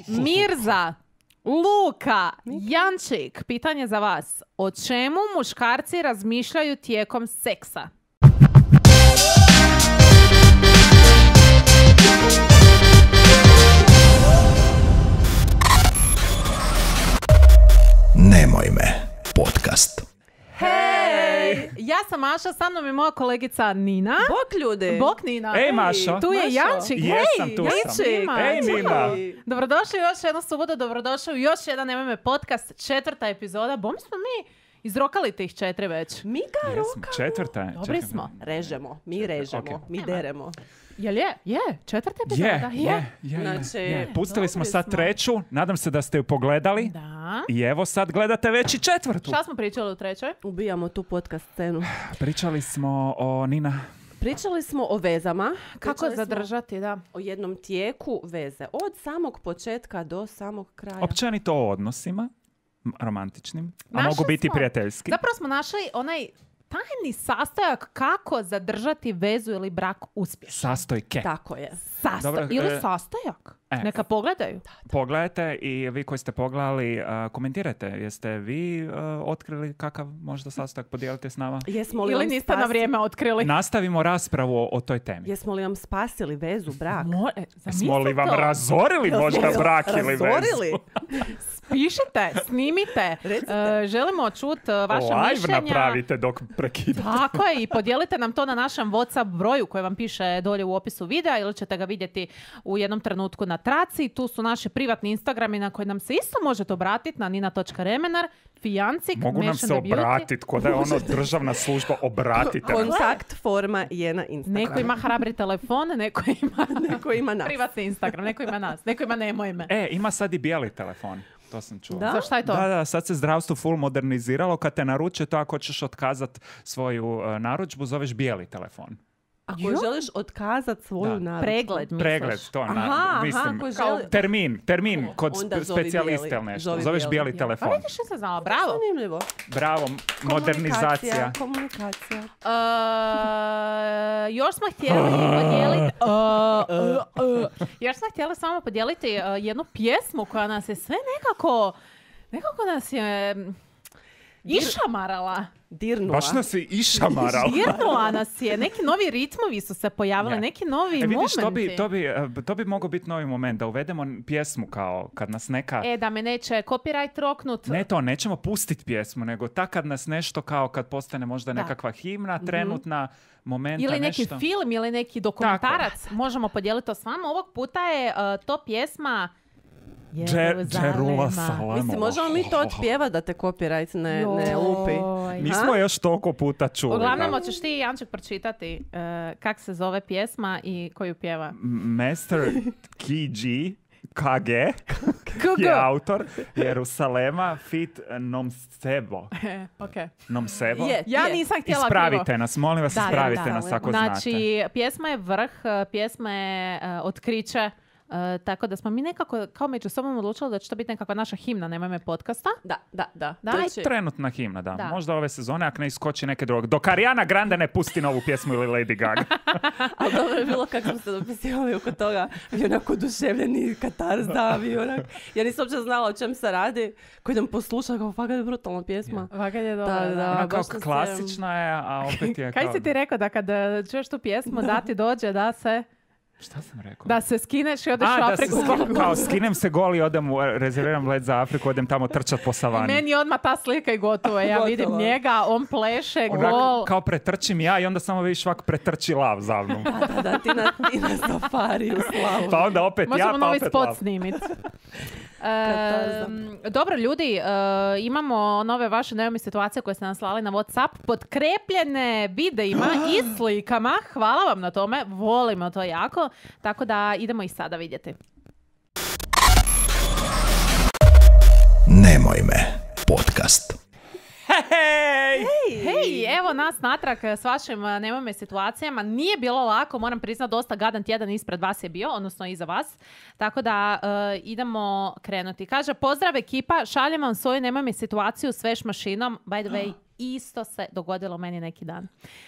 Mirza, Luka, Jančik, pitanje za vas. O čemu muškarci razmišljaju tijekom seksa? Nemoj me, podcast. Hej! Ja sam Maša, sa mnom je moja kolegica Nina. Bok ljudi! Bok Nina. Ej, Mašo. Tu je Mašo. Jančik. Jesam, Hej, tu sam. Jančik. Ej, Nina. Dobrodošli u još jednu subotu, dobrodošli u još jedan Nemoj me podcast, 4. epizoda. Bom smo mi izrokali tih 4 već. Mi ga Jesmo, rokamo. četvrta je. Dobri Čekaj. smo. Režemo, mi režemo, Ok. mi deremo. Jel je? Je, 4. epizoda. Znači, Pustili smo dobri sad smo. 3. Nadam se da ste ju pogledali. Da. I evo sad gledate već i 4. Šta smo pričali u 3? Ubijamo tu podcast scenu. Pričali smo o Nina. Pričali smo o vezama. Kako Pričali smo zadržati, da. o jednom tijeku veze. Od samog početka do samog kraja. Općenito o odnosima. Romantičnim. A Našli mogu biti smo- prijateljski. Zapravo smo našli onaj tajni sastojak kako zadržati vezu ili brak uspješno. Sastojke. Tako je. Dobro, Ili sastojak. Neka pogledaju. Pogledajte i vi koji ste pogledali, komentirajte. Jeste vi otkrili kakav možda sastojak, podijelite s nama? Jesmo li Ili vam niste na vrijeme otkrili. Nastavimo raspravu o toj temi. Jesmo li vam spasili vezu, brak? Smo li vam razorili možda brak ili vezu? Razorili? Pišite, snimite. Želimo čuti vaše Live mišljenja. napravite dok prekidate. Tako je, i podijelite nam to na našem WhatsApp broju koji vam piše dolje u opisu videa ili ćete ga vidjeti u jednom trenutku na traci. Tu su naši privatni Instagrami na koje nam se isto možete obratiti na nina.remenar, Fijancik, Mogu nam se obratiti, ko da je ono državna služba, obratite nam. Kontakt forma je na Instagramu. Neko ima hrabri telefon, neko Neko ima nas. privatni Instagram, neko ima nas, neko ima nemoj me. Ima sad i bijeli telefon. To sam čuo. Da? Za šta je to? Da, sad se zdravstvo full moderniziralo. Kad te naruče to, ako ćeš otkazat svoju narudžbu, zoveš bijeli telefon. Ako Jo? želiš otkazat svoju Da. narudžbu. Pregled, misliš? Pregled, to mislim. ako Kao želi- termin kod Onda zovi specijaliste bijeli. ili nešto. Zovi Zoveš bijeli. bijeli Ja. telefon. Pa vidiš, nisam znala, bravo. Zanimljivo. Bravo, modernizacija. Komunikacija. Još smo htjeli podijeliti još smo htjeli samo podijeliti jednu pjesmu koja nas je sve nekako nas je išamarala. Dirnula. Baš nas je išamarala. Dirnula nas je. Neki novi ritmovi su se pojavili, Je. neki novi Vidiš, momenti. to bi mogao biti novi moment, da uvedemo pjesmu kao kad nas neka... Da me neće copyright roknut. Ne to, nećemo pustiti pjesmu, nego tak kad nas nešto kao kad postane možda nekakva himna, trenutna momenta, Ili neki nešto. film, ili neki dokumentarac. Možemo podijeliti to s vama. Ovog puta je to pjesma Jeruzalema. Mislim, možemo mi to otpjevati da te copyright ne lupi. Joj. Mi smo još toliko puta čuli. Uglavnom, da. hoćeš ti, Janček, pročitati kak se zove pjesma i koju pjeva? Master KG je autor Jerusalema fit Nomsebo. Okay. Nomsebo? Je. Ja nisam htjela Ispravite krivo. nas, molim vas, ispravite nas ako Znači, znate. pjesma je vrh, pjesma je otkriće, tako da smo mi nekako kao među sobom odlučili da će to biti nekakva naša himna, Nemoj me podcasta. Da. Da, Znači, Trenutna himna, da. Da. Možda ove sezone, ako ne iskoči neke druge. Dok Ariana Grande ne pusti novu pjesmu ili Lady Gaga. ali dobro je bilo kako smo se dopisivali oko toga. I onako oduševljeni katarza. Ja nisam uopće znala o čem se radi. Koji idem poslušati, kao fakat je brutalna pjesma. Vakad je dobro. Da. Ona kao baš sam se- klasična je, a opet je kao... Kaj si ti rekao da kad čuješ tu pjesmu da ti dođe da se... Šta sam rekao? Da se skineš i odeš u Da se Afriku. kao skinem se gol i odem, rezerviram let za Afriku, odem tamo trčat po savani. Meni je odmah ta slika i gotovo. Ja Gotovo. vidim njega, on pleše, Onak, gol. kao pretrčim ja i onda samo vidiš ovak pretrči lav za mnom. Da, ti na safari u slavu. Pa onda opet ja, Možemo pa novi opet spot lav. snimiti. Katarza. Dobro, ljudi, imamo nove vaše najavne situacije koje ste nam slali na WhatsApp, potkrepljene videima i slikama. Hvala vam na tome, volimo to jako. Tako da idemo i sada vidjeti. Nemoj me, podcast. Hej, evo nas natrag s vašim Nemoj me situacijama. Nije bilo lako, moram priznati, dosta gadan tjedan ispred vas je bio, odnosno iza vas. Tako da idemo krenuti. Kaže, pozdrav ekipa, šaljem vam svoju Nemoj me situaciju s veš mašinom. By the way, isto se dogodilo meni neki dan.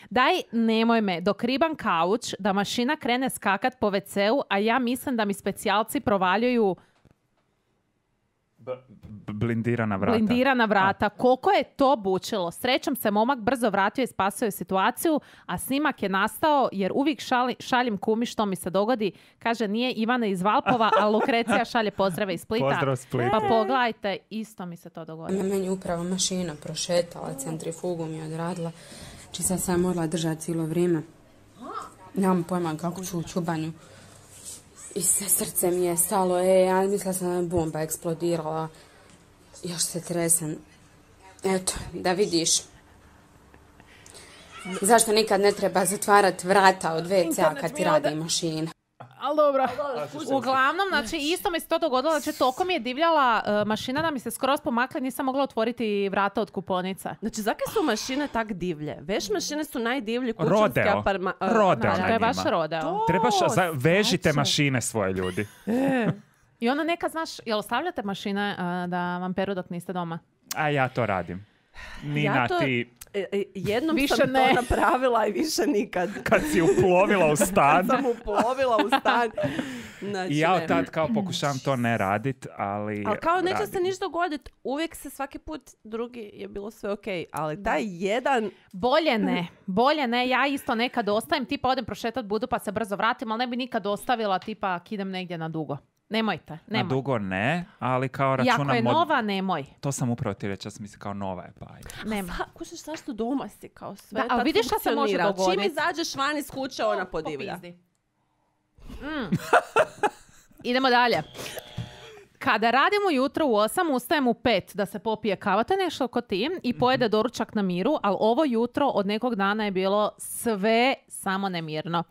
Daj, nemoj me, dok ribam kauč, da mašina krene skakat po WC-u, a ja mislim da mi specijalci provaljuju Blindirana vrata. Blindirana vrata. Koliko je to bučilo? Srećom se momak brzo vratio i spasio je situaciju, a snimak je nastao jer uvijek šaljem kumi što mi se dogodi. Kaže, nije Ivana iz Valpova, a Lukrecija šalje pozdrave iz Splita. Pozdrav Split. Pa pogledajte, isto mi se to dogodilo. Meni je upravo mašina prošetala, centrifugu mi je odradila. Čisto sam morala držati cijelo vrijeme. Nemam pojma kako ću u čubanju. I srce mi je stalo, ja mislila sam da je bomba eksplodirala. Još se tresem. Eto, da vidiš. Zašto nikad ne treba zatvarati vrata od WC-a kad ti radi mašina? Ali dobro. Uglavnom, znači, isto mi se to dogodilo, znači, toliko mi je divljala mašina da mi se skroz pomakla, nisam mogla otvoriti vrata od kuponica. Znači, zakaj su mašine tak divlje? Veš mašine su najdivlji kućanski Rodeo. Rodeo Znači, na to je baš njima. rodeo. Trebaš, vežite mašine svoje ljudi. I onda neka, znaš, jel ostavljate mašine da vam peru dok niste doma? A ja to radim. Nina, Ja to- ti Jednom Više sam ne. to napravila i više nikad. kad si uplovila u stan. Sam uplovila u stan. Znači, I ja ne. od tad kao pokušavam to ne radit, ali Ali kao neće se radim. ništa dogoditi. Uvijek se svaki put drugi je bilo sve okej. Ali taj jedan... Bolje ne, ja isto nekad ostajem, tipa odem prošetat budu pa se brzo vratim, ali ne bi nikad ostavila tipa ak idem negdje na dugo. Nemojte, Na nemoj. dugo ne, ali kao I računam... ako je nova, nemoj. To sam upravo ti reći, ja sam mislila kao nova je pa ajde. Nemoj. Kužiš zašto doma si kao sve. Da, ali tad vidiš šta se može funkcionira. dogoditi? Čim izađeš van iz kuće, ona podivlja. Popizdi. Idemo dalje. Kada radim ujutro u 8, ustajem u 5 da se popije kava, to je nešto ko ti, i pojede doručak na miru, ali ovo jutro od nekog dana je bilo sve samo nemirno.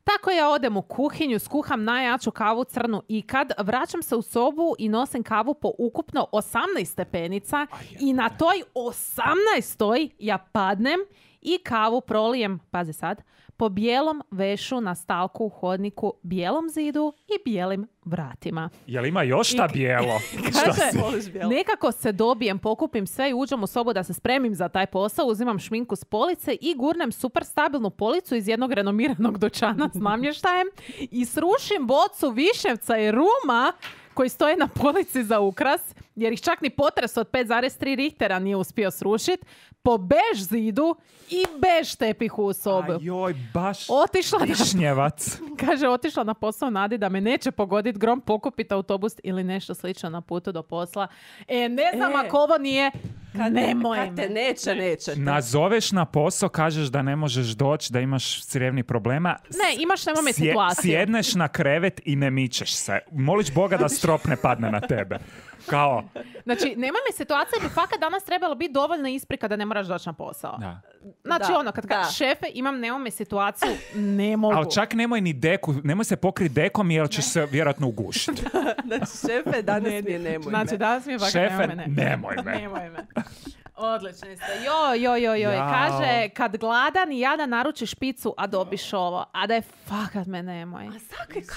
Tako ja odem u kuhinju, skuham najjaču kavu crnu ikad, vraćam se u sobu i nosim kavu po ukupno 18 stepenica i na toj 18. ja padnem i kavu prolijem, pazi sad, po bijelom vešu na stalku u hodniku, bijelom zidu i bijelim vratima. Jel ima još šta bijelo? Kaže, Voliš bijelo? nekako se dobijem, pokupim sve i uđem u sobu da se spremim za taj posao, uzimam šminku s police i gurnem super stabilnu policu iz jednog renomiranog dućana s namještajem i srušim bocu višnjevca i ruma koji stoje na polici za ukras, jer ih čak ni potres od 5,3 Richtera nije uspio srušiti, po bež zidu i bež tepihu u sobu. Ajoj, baš Otišla na višnjevac. Kaže, otišla na posao nadi da me neće pogoditi grom, pokupiti autobus ili nešto slično na putu do posla. Ne znam ako ovo nije, nemoj Kad te me. neće. Nazoveš na posao, kažeš da ne možeš doći, da imaš crjevnih problema. Ne, imaš nemoj situaciju. Sjedneš na krevet i ne mičeš se. Moliš Boga da strop ne padne na tebe. Kao, Znači, nemoj me situacija, bi fakat danas trebalo biti dovoljna isprika da ne moraš doći na posao. da. Znači, Da, ono, kad da. kažeš šefe, nemoj me situaciju, ne mogu. Ali čak nemoj ni deku, nemoj se pokriti dekom jer ćeš se vjerojatno ugušiti. Znači, šefe, danas mi je nemoj Znači, me. danas mi je fakat Šefe, nemoj me. nemoj me. Nemoj me. Odlični ste. Joj. Jao. Kaže, kad gladan i jadan naručiš picu, a dobiš ovo. A da je fakat me nemoj.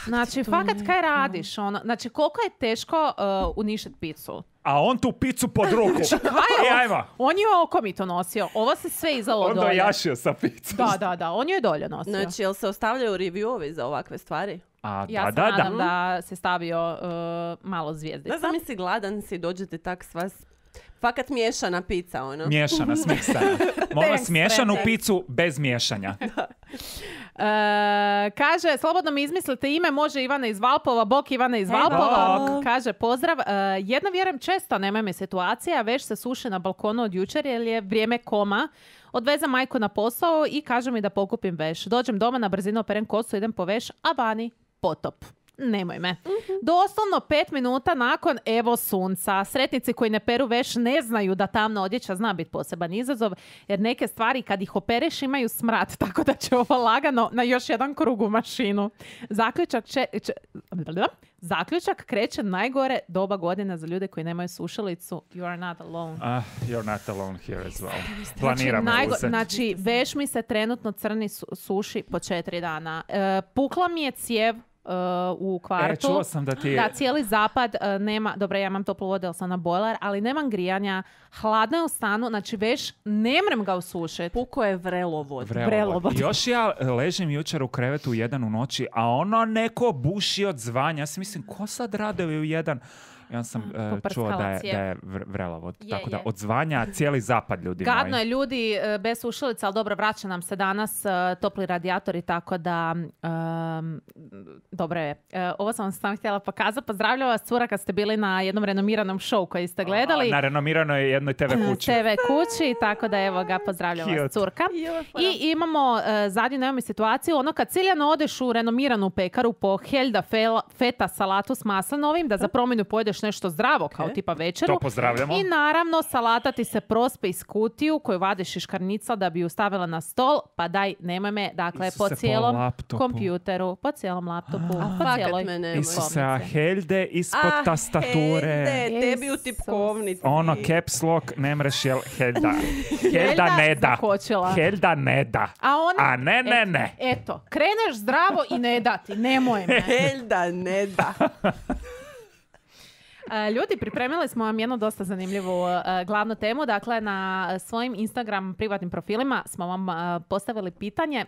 Znači, fakat kaj radiš? Ono? Znači, koliko je teško uništiti picu? A on tu picu pod ruku. Kaj je Ajmo. On je oko mi to nosio. Ovo se sve izalo On dolje. dojašio sa picom. Da, on je dolje nosio. Znači, jel se ostavljaju reviewovi za ovakve stvari? A, Ja se nadam da se stavio malo zvijezdica. Da znam, si gladan si, dođete tak sva... Fakat miješana pizza, ono. Miješana, smiksana. Molim vas, Thanks, miješanu friend. picu bez miješanja. Kaže, slobodno mi izmislite ime, može Ivana iz Valpova, bok Ivana iz Valpova. bok. Kaže, pozdrav. Jedno vjerujem često, nema mi situacija, već se suši na balkonu od jučer jer je vrijeme koma. Odvezem majku na posao i kaže mi da pokupim veš. Dođem doma, na brzinu operem kosu, idem po veš, a vani potop. Nemoj me. Doslovno 5 minuta nakon evo sunca. Sretnici koji ne peru veš ne znaju da tamna odjeća zna biti poseban izazov, jer neke stvari kad ih opereš imaju smrad, tako da će ovo lagano na još jedan krug u mašinu. Zaključak kreće najgore doba godina za ljude koji nemaju sušilicu. You are not alone. You're not alone here as well. Planiramo uzeti. Znači, veš mi se trenutno crni suši po 4 dana. Pukla mi je cijev u kvartu. Čuo sam da ti... Da, cijeli zapad nema, dobro, ja imam toplu vodu, ali sam na bojler, ali nemam grijanja, hladno je u stanu, znači veš, ne mrem ga usušiti. Puko je vrelovod. Vrelovod. Još ja ležim jučer u krevetu u 1 u noći, a ono neko buši od zvanja. Ja si mislim, ko sad rade u 1? i onda sam Poprskala čuo da je cijev. vrelavo. Je, Tako da je. odzvanja cijeli zapad, ljudi Gadno moji. je ljudi bez sušilica, ali dobro, vraća nam se danas topli radijatori, tako da dobro je. Ovo sam vam samo htjela pokazati. Pozdravljam vas, cura, kad ste bili na jednom renomiranom show koji ste gledali. Na renomiranoj jednoj TV kući. TV kući, tako da evo ga, pozdravljam vas, Cute. curka. I imamo zadnju nemamo situaciju, ono kad ciljano odeš u renomiranu pekaru po Helda feta salatu s maslinovim, da za promjenu pojedeš nešto zdravo, kao tipa večeru. To pozdravljamo. I naravno, salata ti se prospe iz kutiju koju vadiš iz škarnica da bi ju stavila na stol, pa daj, nemoj me, dakle, Isuse, po po cijelom laptopu. kompjuteru, po cijelom laptopu, po fakat cijeloj me nemoj. Isuse, a Helde ispod tastature. Helde, tebi u tipkovnici. Ono, caps lock, ne mreš jel Helda. Helda ne da. zakočila. Helda ne da. A ne. Eto, kreneš zdravo i ne dati, nemoj me. Helda ne da. Ljudi, pripremili smo vam jednu dosta zanimljivu glavnu temu. Dakle, na svojim Instagram privatnim profilima smo vam postavili pitanje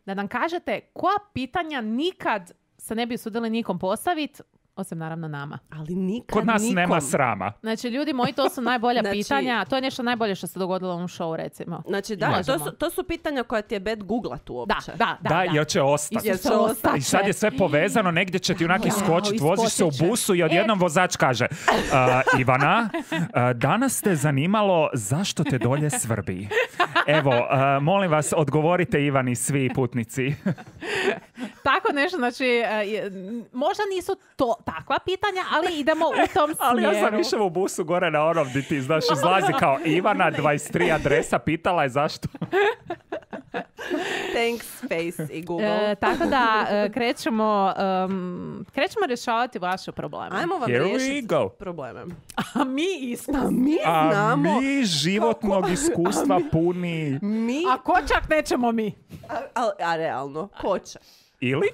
da nam kažete koja pitanja nikad se ne bi usudili nikom postaviti, osim naravno nama. Ali nikad Kod nas nikom. nema srama. Znači, ljudi moji, to su najbolja Znači- pitanja. To je nešto najbolje što se dogodilo u ovom show, recimo. Znači da, Možemo. to su pitanja koja ti je bed googlat uopće. Da. Jer će ostati. Jer će ostati. I sad je sve povezano, negdje će ti onak Wow, iskočit, voziš se u iskočit će. busu i odjednom vozač kaže Ivana, danas te zanimalo zašto te dolje svrbi. Evo, molim vas, odgovorite Ivani svi putnici. Tako nešto, znači, možda nisu to takva pitanja, ali idemo u tom smjeru. Ali ja sam išao u busu gore na onom di ti, znaš, izlazi kao Ivana, 23 adresa, pitala je zašto. Thanks, Face i Google. Tako da krećemo rješavati vaše probleme. Ajmo vam Here we riješiti go. probleme. A mi isto. Mi A znamo. mi životnog iskustva puni. Mi, A ko čak nećemo mi? a realno, ko će? Ili?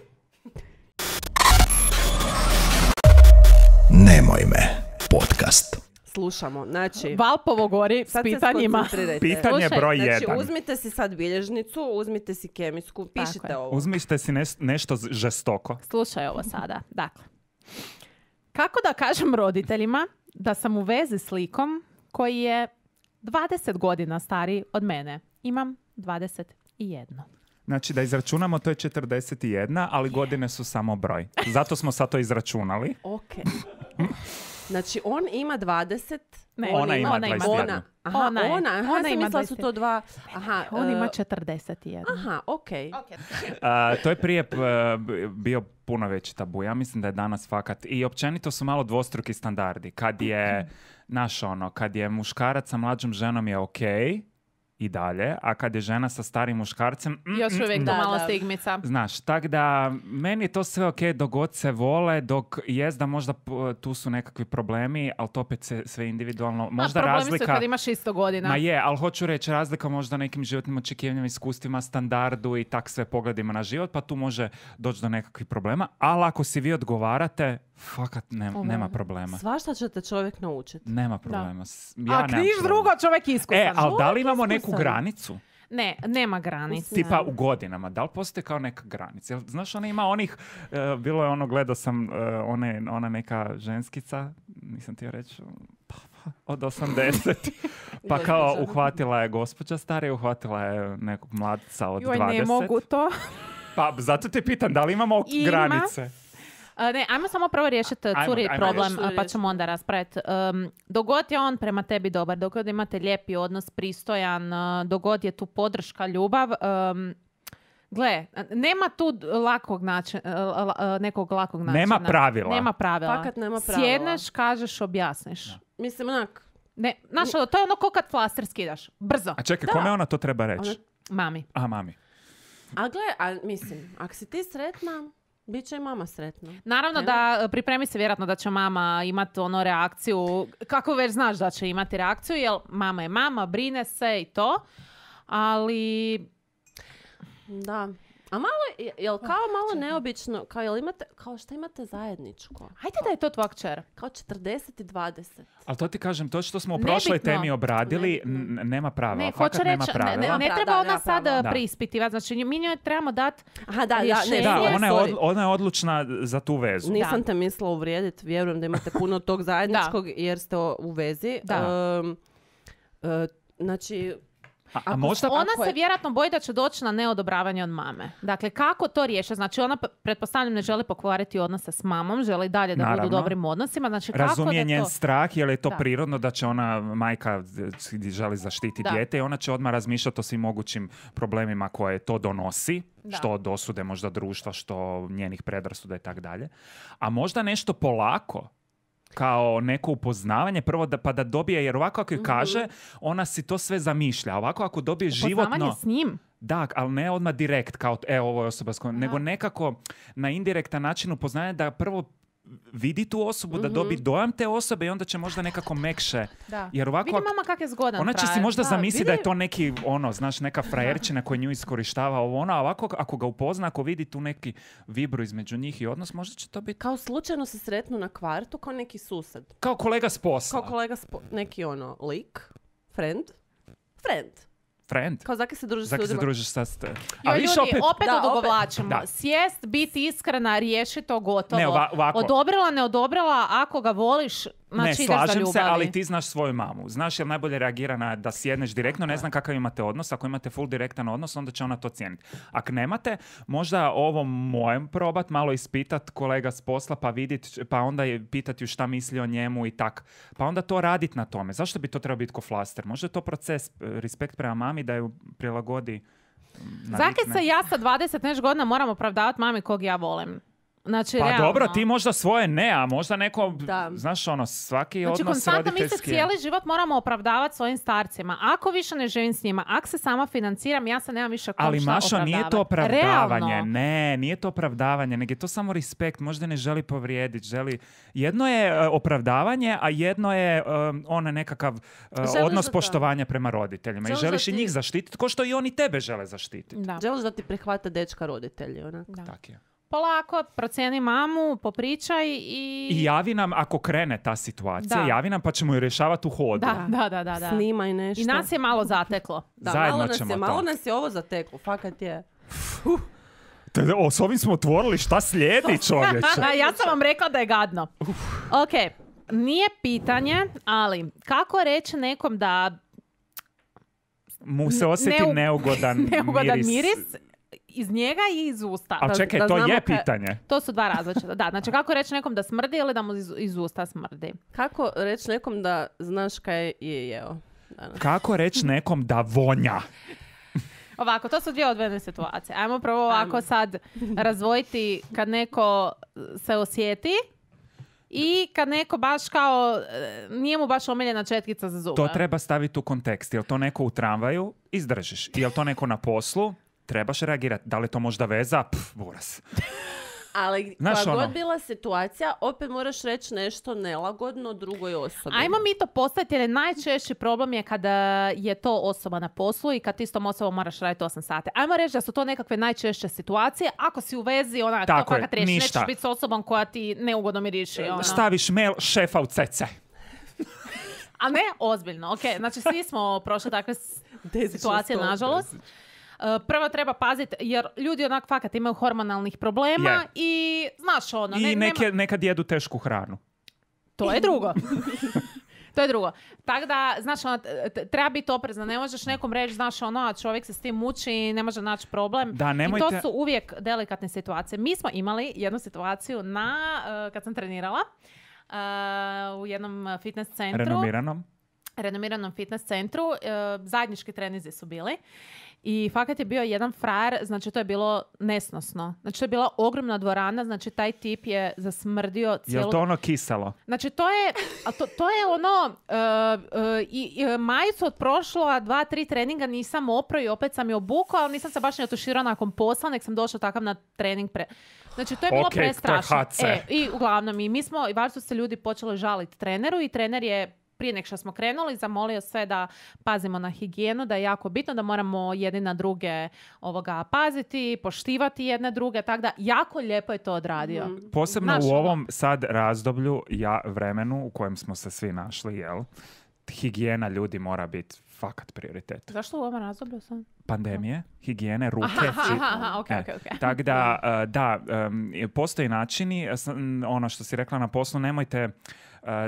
Nemoj me. Podcast. Slušamo, znači... Valpovo gori s Sad se pitanjima. skoncentrirajte. Pitanje Slušaj, broj Znači, 1. uzmite si sad bilježnicu, uzmite si kemijsku, pišite je. ovo. Uzmite si nešto žestoko. Slušaj ovo sada. Dakle, kako da kažem roditeljima da sam u vezi s likom koji je 20 godina stariji od mene? Imam 21. Znači da izračunamo, to je 41, ali godine su samo broj. Zato smo sad to izračunali. Ok. Znači, on ima 20... Ne, Ona ima 21. Ona. Aha, Ona je. ona. Aha, Ona sam ima mislila su to dva... Aha, On ima 41. Aha, okej. To je prije bio puno veći tabu. Ja mislim da je danas fakat. I općenito su malo dvostruki standardi. Kad je, kad je muškarac sa mlađom ženom je okej i dalje, a kad je žena sa starim muškarcem... Još uvijek to Da, malo da. stigmica. Znaš, tak da meni je to sve okej dok god se vole, dok jest da možda tu su nekakvi problemi, ali to opet sve individualno. Možda problemi razlika... su kad imaš 100 godina. Ma je, ali hoću reći razlika možda nekim životnim očekivanjima, iskustvima, standardu i tak sve pogledima na život, pa tu može doći do nekakvih problema. Ali ako si vi odgovarate, fakat nema problema. Svašta će te čovjek naučiti. Nema problema. Ja A nemam križ problema. drugo, čovjek iskusan. Ali da li Čovjek imamo neku iskusan. granicu? Ne, nema granica. Tipa u godinama, da li postoji kao neka granica? Jel, znaš, ona ima onih, bilo je ono, gledao sam ona neka ženskica, nisam ti reći, od 80. Pa kao uhvatila je gospođa starija, uhvatila je nekog mladca od 20. Joj, ne mogu to. Pa zato te pitam, da li imamo Ima. granice? Ne, ajmo samo prvo riješiti curi ajmo problem, riješiti. pa ćemo onda raspraviti. Dogod je on prema tebi dobar, dogod imate lijepi odnos, pristojan, dogod je tu podrška, ljubav, gle, nema tu nekog lakog načina. Nema pravila. Nema pravila. Fakat nema pravila. Sjedneš, kažeš, objasniš. Mislim, onak, Ne, znaš, to je ono ko kad flaster skidaš. Brzo. A čekaj, kome ona to treba reći? Mami. A, mami. a gle, mislim, ako si ti sretna, bit će i mama sretna. Naravno da pripremi se vjerojatno da će mama imati ono reakciju, kako već znaš da će imati reakciju, jer mama je mama, brine se i to, ali... Da. A malo, jel kao malo neobično, kao jel imate, kao što imate zajedničko? Hajde da je to tvoja kćer. Kao 40 i 20. Ali to ti kažem, to što smo u prošloj Nebitno. temi obradili, nema pravila. Ne, Fakat hoću nema reći, pravila. ne treba Da, ona nema sad pravila. preispitivati. Znači, mi njoj trebamo dati Aha, da, rješenje. Da, sorry. ona je odlučna za tu vezu. Nisam te mislila uvrijediti, vjerujem da imate puno tog zajedničkog jer ste u vezi. Da. Znači, A možda... Ona Ako se je- vjerojatno boji da će doći na neodobravanje od mame. Dakle, kako to riješiti? Znači, ona, pretpostavljam, ne želi pokvariti odnose s mamom, želi dalje da budu u Naravno. dobrim odnosima. Znači, kako Razumije da njen to... strah, jer je to Da. prirodno da će ona, majka želi zaštiti Da. dijete i ona će odmah razmišljati o svim mogućim problemima koje to donosi, Da. što od osude možda društva, što njenih predrasuda i tako dalje. A možda nešto polako, kao neko upoznavanje, prvo pa da dobije, jer ovako ako joj kaže, ona si to sve zamišlja. A ovako ako dobije životno... Upoznavanje s njim. Da, ali ne odmah direkt, kao ovo je osoba s kojom, nego nekako na indirektan način upoznaje da prvo vidi tu osobu, da dobi dojam te osobe i onda će možda nekako mekše. Da. Jer ovako, Vidi mama kak je zgodan ona će si frajer. možda Da, zamisliti vidi- da je to neki, znaš, neka frajerčina koja nju iskorištava ovo ono, a ovako ako ga upozna, ako vidi tu neki vibru između njih i odnos, možda će to biti kao slučajno se sretnu na kvartu kao neki sused. kao kolega s posla. Kao kolega, neki lik, friend. Friend. Kao zaki se druži s Zaki se ljudima. družiš sa... Joj, A više ljudi, opet Da, odugovlačimo. Da. Sjest, biti iskrena, riješi to gotovo. Ne, ovako. Odobrila, ne odobrila, ako ga voliš, znači Ne, ideš za slažem ljubavi. se, ali ti znaš svoju mamu. Znaš jel najbolje reagira na da sjedneš direktno, ne znam kakav imate odnos. Ako imate full direktan odnos, onda će ona to cijeniti. Ako nemate, možda ovo mojem probat, malo ispitat kolega s posla, pa vidit, pa onda je pitati ju šta misli o njemu i tak. Pa onda to radit na tome. Zašto bi to trebao biti ko flaster? Možda je to proces, respekt prema mami da ju prilagodi. Zaki se ja sa 20 nešto godina moram opravdavati mami kog ja volim. Znači, Pa realno. dobro, ti možda svoje ne, a možda neko, Da. znaš svaki Znači, odnos konstantno mi se roditeljski. cijeli život moramo opravdavati svojim starcima. Ako više ne živim s njima, ako se sama financiram, ja se nemam više kom Ali šta Mašo, nije to opravdavati. opravdavanje. Realno. Ne, nije to opravdavanje, nego je to samo respekt. Možda ne želi povrijediti, želi... Jedno je opravdavanje, a jedno je onaj nekakav odnos da- poštovanja prema roditeljima. I Želiš želiš da i ti- njih zaštititi, ko što i oni tebe žele zaštititi. Da. Želiš da ti prihvate dečka roditelji, onak. Da. Tak je. Polako, procijeni mamu, popričaj I javi nam ako krene ta situacija, Da. javi nam pa ćemo ju rješavati u hodu. Da. Snimaj nešto. I nas je malo zateklo. Da, Zajedno malo ćemo to. malo nas je ovo zateklo, fakat je. S ovim smo otvorili, šta slijedi, čovječe? Ja sam vam rekla da je gadno. Ok, nije pitanje, ali kako reći nekom da Mu se osjeti neugodan miris iz njega i iz usta. Ali čekaj, da to znamo je ka- pitanje. To su dva različita. Da, znači kako reći nekom da smrdi ili da mu iz usta smrdi. Kako reći nekom da znaš kaj je jeo danas? Kako reći nekom da vonja? Ovako, to su dvije odvojene situacije. Ajmo prvo ovako sad razdvojiti kad neko se osjeti i kad neko baš kao nije mu baš omiljena četkica za zube. To treba staviti u kontekst. Jel to neko u tramvaju? Izdržiš. Jel to neko na poslu? Trebaš reagirati. Da li to možda veza? Buras. Ali Znaš koja ono. god bila situacija, opet moraš reći nešto nelagodno drugoj osobi. Ajmo mi to postaviti jer najčešći problem je kada je to osoba na poslu i kad ti s tom osobom moraš raditi 8 sati. Ajmo reći da su to nekakve najčešće situacije. Ako si u vezi, Tako to je, fakat riješi. ništa. Nećeš biti s osobom koja ti neugodno miriši. Staviš mail šefa u cece. A ne, ozbiljno. Ok, znači svi smo prošli takve situacije, nažalost. Prvo treba paziti, jer ljudi onak fakat imaju hormonalnih problema Je. i znaš ono... I nema- nekad jedu tešku hranu. To je drugo. To je drugo. Tako da, znaš, ono, treba biti oprezna. Ne možeš nekom reći, znaš, ono, a čovjek se s tim muči i ne može naći problem. Da, I nemojte- to su uvijek delikatne situacije. Mi smo imali jednu situaciju kad sam trenirala u jednom fitness centru. Renomiranom fitness centru. Zajednički trenizi su bili. I fakat je bio jedan frajer, znači to je bilo nesnosno. Znači to je bila ogromna dvorana, znači taj tip je zasmrdio cijelu... Jel to ono kiselo? Znači to je, to je ono, majicu od prošla 2-3 treninga nisam oprao i opet sam je obukao, ali nisam se baš ne otuširao nakon posla, nek sam došla takav na trening Znači to je bilo Ok, to je prestrašno. HC. I uglavnom, i mi smo, i vaš su se ljudi počeli žaliti treneru i trener je prije nek što smo krenuli, zamolio sve da pazimo na higijenu, da je jako bitno, da moramo jedni na druge paziti, poštivati jedne druge, tako da jako lijepo je to odradio. Posebno Znaš, u ono- ovom sad razdoblju, vremenu u kojem smo se svi našli, jel? Higijena ljudi mora biti fakat prioritet. Zašto u ovom razdoblju sam? Pandemije, higijene, ruke, Ok. Tako da, postoji načini, ono što si rekla na poslu, nemojte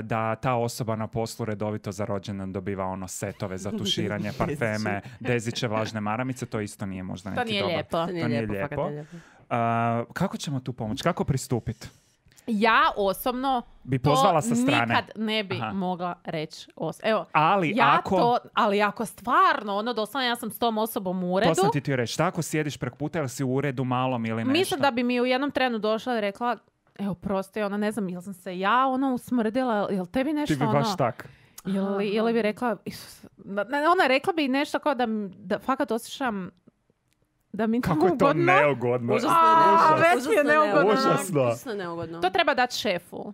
da ta osoba na poslu redovito za rođendan dobiva ono setove za tuširanje, parfeme, deziće, vlažne maramice, to isto nije možda neki To nije dobar. lijepo. To nije lijepo, fakat nije lijepo. Kako ćemo tu pomoći? Kako pristupiti? Ja osobno Bi pozvala sa strane. nikad ne bi mogla reći. Evo, Ali ali ako stvarno, ono doslovno ja sam s tom osobom u uredu, to sam ti htio reći. Tako sjediš preko puta ili si u uredu malom ili nešto? mislim da bi mi u jednom trenu došla i rekla, evo prosti, ona ne znam, jel sam se ja usmrdila, jel tebi nešto Ti bi baš tak. Ili bi rekla, ona rekla bi nešto kao da fakat osjećam da mi Kako je to neugodno. neugodno. već mi je neugodno. Užasno neugodno. To treba dati šefu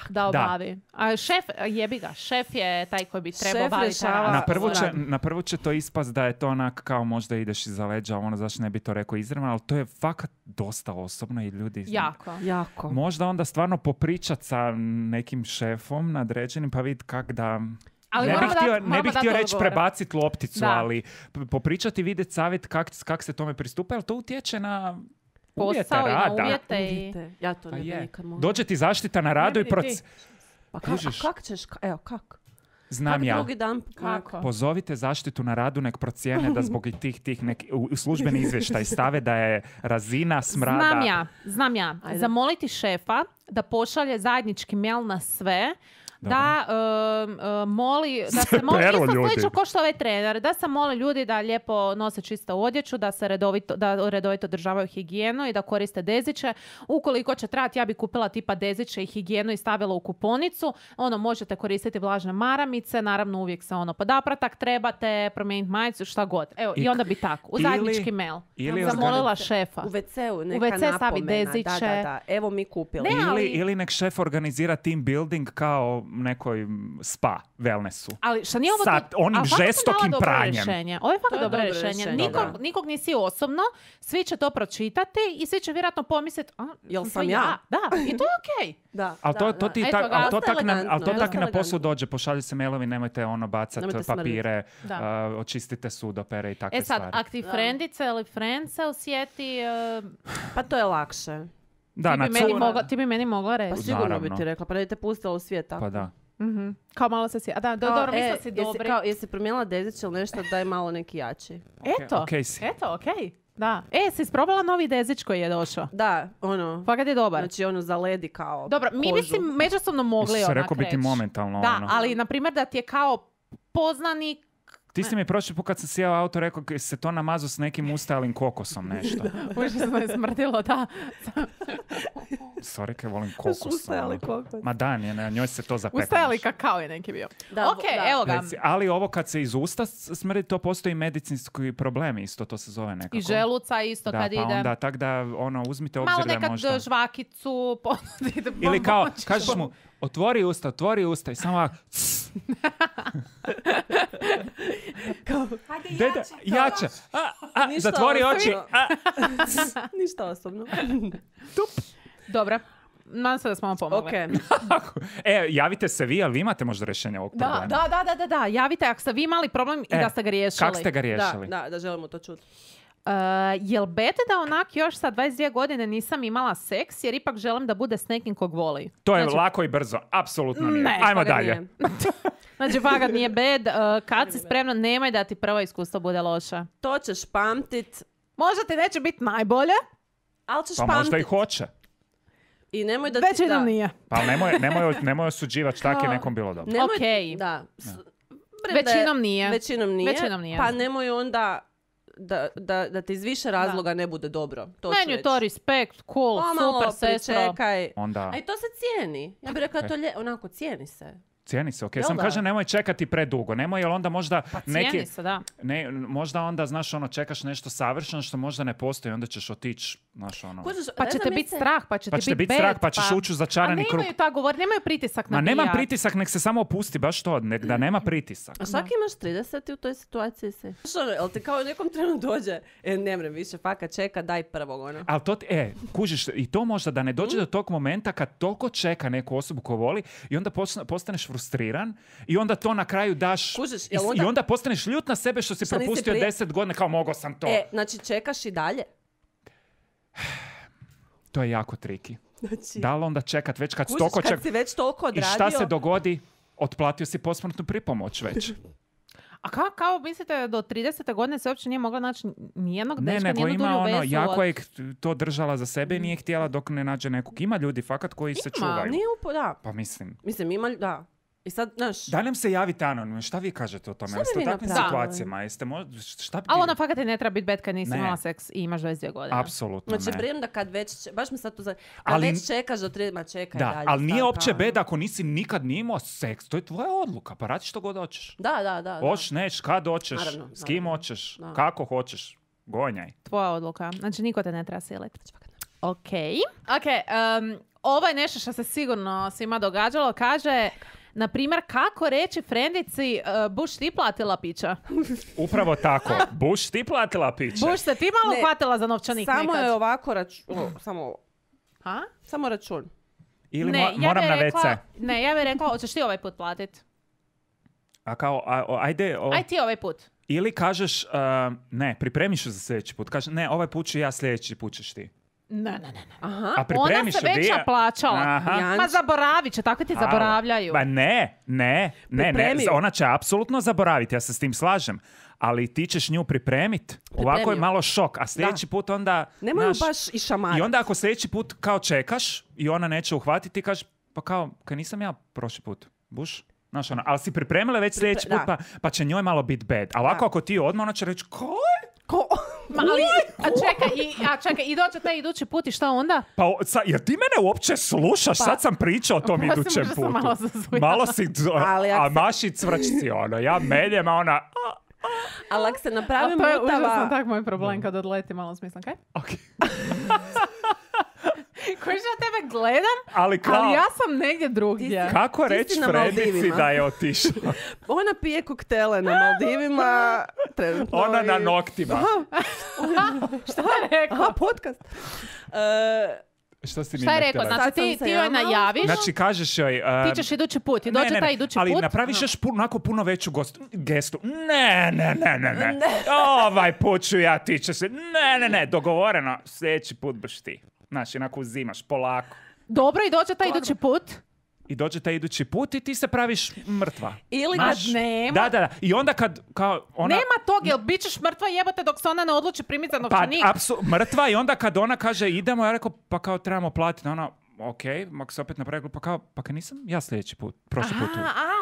da obavi. A šef, jebi ga, šef je taj koji bi trebao Šef obaviti. rješava- Na prvu će to ispast da je to onak kao možda ideš iza leđa, ono zašto ne bi to rekao izravno, ali to je fakat dosta osobno i ljudi... Jako. Možda onda stvarno popričat sa nekim šefom nadređenim pa vidjeti kak da... Ali ne bih htio reći odgovore. prebaciti lopticu, Da. ali popričati i vidjeti savjet kak se tome pristupa, jer to utječe na uvjete Posao i na rada. uvjete. Ja to Pa ne bi je. nikad mogla. Dođe ti zaštita na radu Ne i bi ti. Pa Kužiš? kak ćeš? Evo, kak? Znam Kak ja. drugi dan? Kako? Pozovite zaštitu na radu, nek procijene da zbog tih u službeni izvještaj stave da je razina smrada... Znam ja. Ajde. Zamoliti šefa da pošalje zajednički mail na sve, da moli, da se moli, Pero isto ljudi. slično kao što ovaj trener, da se moli ljudi da lijepo nose čistu odjeću, da se redovito održavaju higijenu i da koriste deziće. Ukoliko će trebati, ja bi kupila tipa deziće i higijenu i stavila u kuponicu. Možete koristiti vlažne maramice, naravno uvijek se podapratak trebate, promijeniti majicu, šta god. Evo, i onda bi tako, u zajednički mail. ili Zamolila šefa. U WC-u neka WC stavi napomena. deziće. Da. Evo mi kupili. Ne, ali- Ili nek šef organizira team building kao nekoj spa, wellnessu. Ali što nije ovo Sa onim ali fakat sam žestokim dala dobro pranjem. rješenje. Ovo je fakat To je dobro dobro rješenje. rješenje, Nikog nisi osobno, svi će to pročitati i svi će vjerojatno pomisliti, Jel to sam ja? Da, i to je okej. Da, Ali to ti Eto tak, ga, ali to dosta tak na, ali to elegantno, tak i na dosta poslu elegantno. dođe, pošalju se mailovi, nemojte bacati Nemojte smrditi. papire, Da. očistite sudopere i takve E sad, stvari. ak ti frendice ili friend se osjeti, Pa to je lakše. Da, na ti bi meni mogla Pa reći. sigurno bi Naravno. ti rekla. Pa da te pustila u svijet tako. Pa da. Kao malo se A da, dobro, mislila si dobri. Jesi promijenila dezić ili nešto, daj malo neki jači. Eto, okej si. okej. Da. Si isprobala novi dezić koji je došao? Da, Fakat je dobar. znači zaledi kao Dobro, mi bi kožu. si međusobno mogli Se onak rekao biti reći. momentalno Da, ono. ali na primjer da ti je kao poznanik. Ti si mi prošli put kad sam sjeo auto rekao se to namazu s nekim ustalim kokosom nešto. Užasno je smrdilo, da. Sorry, kaj volim kokos. Ustajali ono. kokos. Ma da, na njoj se to zapekne. Ustajali kakao je neki bio. Da, Ok, da. evo ga. Ali ovo kad se iz usta smrdi, to postoji medicinski problem isto, to se zove nekako. I želuca isto da, kad pa ide. onda tak da uzmite obzir Malo da nekad možda... žvakicu ponudite. Ili kao, kažeš mu, otvori usta i samo ovako, deda, jače. Ništa Zatvori oči. osobno. Ništa osobno. Dobro. Nadam se da smo vam pomogli. Javite se vi, ali vi imate možda rješenje ovog problema. Da. Javite ako ste vi imali problem i da ste ga riješili. Kako ste ga riješili? Da želimo to čuti. Jel bete da onak još sa 22 godine nisam imala seks jer ipak želim da bude s nekim kog voli? To je Znači- lako i brzo. Apsolutno nije. Ne, Ajmo Toga dalje. nije. Znači, fakat nije bed. Kad si spremna, nemoj da ti prvo iskustvo bude loše. To ćeš pamtit, Možda ti neće biti najbolje, ali ćeš Pa možda i pamtit. hoće. I nemoj da većinom nije. Pa nemoj osuđivati šta je nekom bilo dobro. Nemoj, Okej. Da. Većinom nije. Većinom nije. Pa nemoj onda da ti iz više razloga ne bude dobro. To ću Meni je reći. to respekt, cool, Pomalo super, sestro. pričekaj. Onda... A i to se cijeni. Ja bih rekla to onako cijeni se. Cijeni se, ok. Jel Sam da? kažem nemoj čekati predugo. Nemoj, jer onda možda neki... Cijeni se, da. Ne, možda onda, znaš, ono, čekaš nešto savršeno što možda ne postoji, onda ćeš otići, znaš, ono... Kužiš, Pa ne će znam, te biti mislim- strah, pa će Pa ti će te biti biti strah, pa ćeš ući u začarani krug. A nemaju ta govor, nemaju pritisak na Ma nemam bijat. pritisak, nek se samo opusti, baš to, da nema pritisak. A svaki imaš 30 i u toj situaciji si. Znaš ono, jel ti kao u nekom trenu dođe, ne mrem više, fakat čeka, daj prvog, ono. Ali to, kužiš, i to možda da ne dođe do tog momenta kad toliko čeka neku osobu ko voli i onda postaneš frustriran i onda to na kraju daš Kužiš, i, jel onda- i onda postaneš ljut na sebe što si Što nisi propustio prije- 10 godina, kao mogao sam to. Znači čekaš i dalje. To je jako triki. Znači, Da li onda čekat već kad kužiš, toliko kad si već toliko I odradio... šta se dogodi? Otplatio si posmrtnu pripomoć već. A kao mislite do 30. godine se uopće nije mogla naći nijednog Ne, dečka, nego nijednu ima dulju ono, vezu jako od- je to držala za sebe i nije htjela dok ne nađe nekog. Ima ljudi fakat koji se čuvaju. Nije da. Pa mislim. Mislim, ima, da. I sad, znaš, Da nam se javite anonimno, šta vi kažete o tome? Šta bi Jeste u vi takvim napravili? situacijama? Jeste šta bi Ali vi- ona fakat i ne treba biti bed kad nisi Ne. imala seks i imaš 22 godine. Apsolutno znači, ne. prijem da kad već, baš mi sad to kad Ali- već čekaš do 30, ma čekaj Da, dalje. ali nije stanka, opće ono. bed ako nisi nikad nije imao seks. To je tvoja odluka, pa radi što god hoćeš. Da. Hoćeš, neć, kad hoćeš, Naravno, s kim naravno. hoćeš, Da. kako hoćeš. Gonjaj. Tvoja odluka. Znači, niko te ne treba siliti. Ok. Ovo je nešto što se sigurno svima događalo. Kaže, na primjer, kako reći frendici, Buš ti platila pića? Upravo tako. Buš ti platila piće. Buš se ti malo Ne, hvatila za novčanik Samo nekad? je ovako Ha? samo račun. Ili Ne, moram bi na rekla, WC. Ne, ja bih rekla, hoćeš ti ovaj put platit? A kao, ajde... Aj ti ovaj put. Ili kažeš, ne, pripremiš se za sljedeći put. Kažeš, ne, ovaj put ću ja, sljedeći put ćeš ti. Ne. Aha. A Ona pripremiš se već naplaćala. Aha. Janč. Ma zaboravit će, tako ti Alo. zaboravljaju. Ba ne. Pripremi. Ona će apsolutno zaboraviti, ja se s tim slažem. Ali ti ćeš nju pripremiti. Ovako je Pripremi. malo šok. A sljedeći put onda... Nemoj ju znaš, baš i šamari. I onda ako sljedeći put kao čekaš i ona neće uhvatiti, ti kažeš, pa kao, kaj nisam ja prošli put. Buš? Znaš, ona, ali si pripremila već sljedeći put, da. pa će njoj malo biti bad. A ovako ako ti odmah, ona će reći, kaj? Ma, ali, čekaj, i dođe taj idući put i šta onda? Pa, jer ti mene uopće slušaš? Sad sam pričao o tom Oprosti, idućem možda sam putu. malo zazujala. Malo si, Ali ako a se- maši cvrčci, ono. Ja meljem, a ona... Ali ako se napravi To je užasno mutava... tak moj problem kad odleti malo smislam. Kaj? Ok. Koji ja tebe gledam, Ali kao, ali ja sam negdje drugdje. kako ti si reći na Fredici Maldivima. da je otišla? Ona pije koktele na Maldivima. Trenutno Ona na i- noktima. Šta je rekao? Aha, podcast. Što si Šta je rekao? htjela Znači Sad sam se ti joj javila. najaviš, Znači, kažeš joj... ti ćeš idući put i dođe taj idući ali put. napraviš još onako puno veću gestu. Ne. Ovaj put ću ja, ti će se... Ne, dogovoreno. Sljedeći put baš ti. Znači, onako uzimaš polako. Dobro, i dođe taj idući put. I dođe taj idući put i ti se praviš mrtva. Ili Ma kad... nema. Da. I onda kad kao ona... Nema tog, jel bit ćeš mrtva jebote dok se ona ne odluči primiti za Pa, novčanik. mrtva i onda kad ona kaže idemo, ja rekao pa kao trebamo platiti. Ona, ok, mak se opet napravi, pa kao, pa kaj nisam ja sljedeći put, prošli put. tu.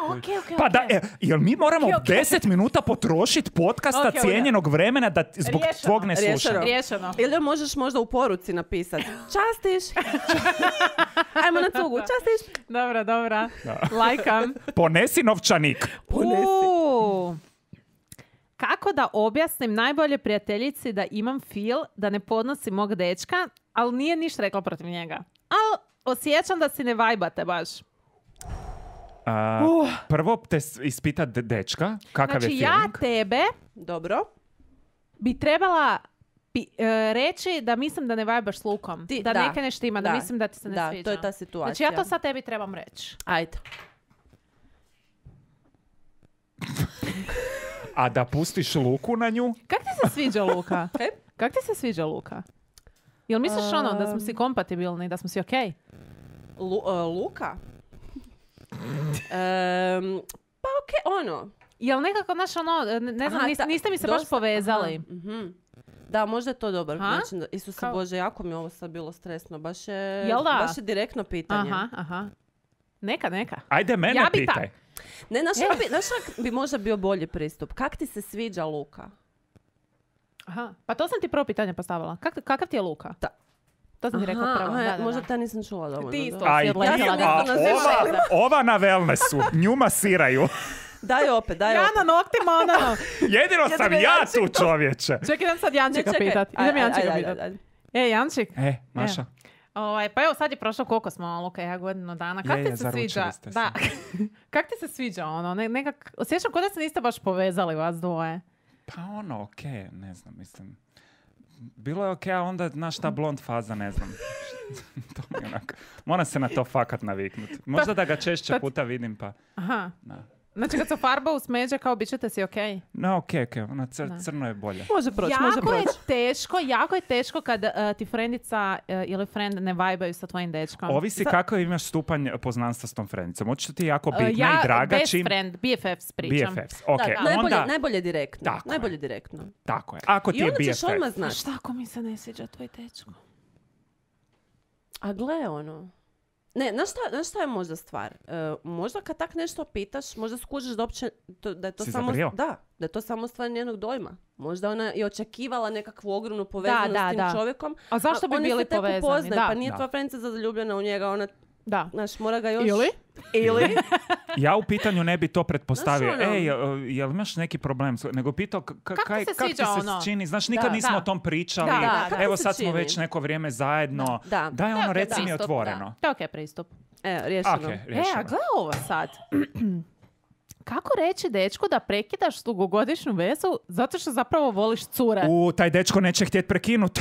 Ok. Pa da, jel mi moramo Ok. 10 minuta potrošiti podcasta Ok, cijenjenog vremena da zbog Riješeno. tvog neslušanja? Riješeno. Ili možeš možda u poruci napisati častiš. Ajmo na cugu, častiš. Dobra. Lajkam. Ponesi novčanik. Kako da objasnim najbolje prijateljici da imam feel da ne podnosi mog dečka, ali nije ništa rekla protiv njega. Ali osjećam da si ne vajbate baš. Prvo te ispita dečka, kakav Znači je ja feeling. tebe Dobro. bi trebala reći da mislim da ne vajbaš s Lukom. Ti- da da. neke nešto ima, da Da. mislim da ti se ne Da, sviđa. to je ta situacija. Znači ja to sad tebi trebam reći. Ajde. A da pustiš Luku na nju? Kak ti se sviđa Luka? Kaj? Kak ti se sviđa Luka? Jel misliš ono da smo si kompatibilni, da smo si okej? Luka? Pa okej, ono. Jel nekako, znaš, ono, ne znam, Aha, niste mi se baš dosta- povezali. aha, mhm. Da, možda je to dobar Ha? način. Isuse Kao- Bože, jako mi je ovo sad bilo stresno. Baš je, Jel da? baš je direktno pitanje. Aha. Neka. Ajde, mene Ja bi pitaj. Ne, znaš kak bi možda bio bolji pristup? Kak ti se sviđa Luka? Aha. Pa to sam ti prvo pitanje postavila. Kakav ti je Luka? Da. To sam ti rekla prvo. Da. Možda te nisam čula dovoljno. Ti isto. dobro. A i odletjela ti, na a zemlju. ova na wellnessu, nju masiraju. Daj opet. Ja na noktima, ono. Jedino sam ja tu, čovječe. Čekaj, idem sad Jančika pitat. Idem Jančika pitat. Jančik. Maša. Pa evo sad je prošlo koliko smo, Luka i ja, godinu dana. Kako ti se sviđa? Da. Kako ti se sviđa ono? Nekak, osjećam kod da se niste baš povezali vas dvoje. Pa ono, okej, ne znam, mislim. Bilo je okej, a onda, znaš, ta blond faza, ne znam. To mi onako, moram se na to fakat naviknuti. Možda da ga češće puta vidim, pa... Aha. Da. Znači kad se farba u smeđe, kao bit ćete si okej? No, okej, ono, crno je bolje. Može proći, može proći. Jako je teško kad ti frendica ili friend ne vajbaju sa tvojim dečkom. Ovisi kako imaš stupanj poznanstva s tom frendicom. Hoće ti jako bitna i draga best čim... friend, BFFs pričam. BFFs, okej. Da, Onda... najbolje direktno. Tako je. Najbolje direktno. Tako je. Ako ti I je onda ćeš BFF. odmah znati. Šta ako mi se ne sviđa tvoj dečko? A gle ono. Ne, znaš šta je možda stvar? Možda kad tak nešto pitaš, možda skužiš da uopće, da je to Si samo... zabrio? Da je to samo stvar njenog dojma. Možda ona je očekivala nekakvu ogromnu povezanost s tim čovjekom. A zašto bi bili povezani? Upoznaju, pa nije tvoja frendica zaljubljena u njega, ona... Da. Znaš, mora ga još... Ili? Ja u pitanju ne bi to pretpostavio. Znaš, ono- Jel imaš neki problem? Nego pitao Kako ti se kak ti sviđa se ono? čini? Znaš, nikad nismo da. o tom pričali. Da, kako Evo se sad smo čini? već neko vrijeme zajedno. Da. Daj ono, reci mi pristup, otvoreno. To je okej pristup. Riješeno. Okej, A riješeno. gle ovo sad. Kako reći dečku da prekidaš dugogodišnju vezu zato što zapravo voliš cure? Taj dečko neće htjeti prekinut.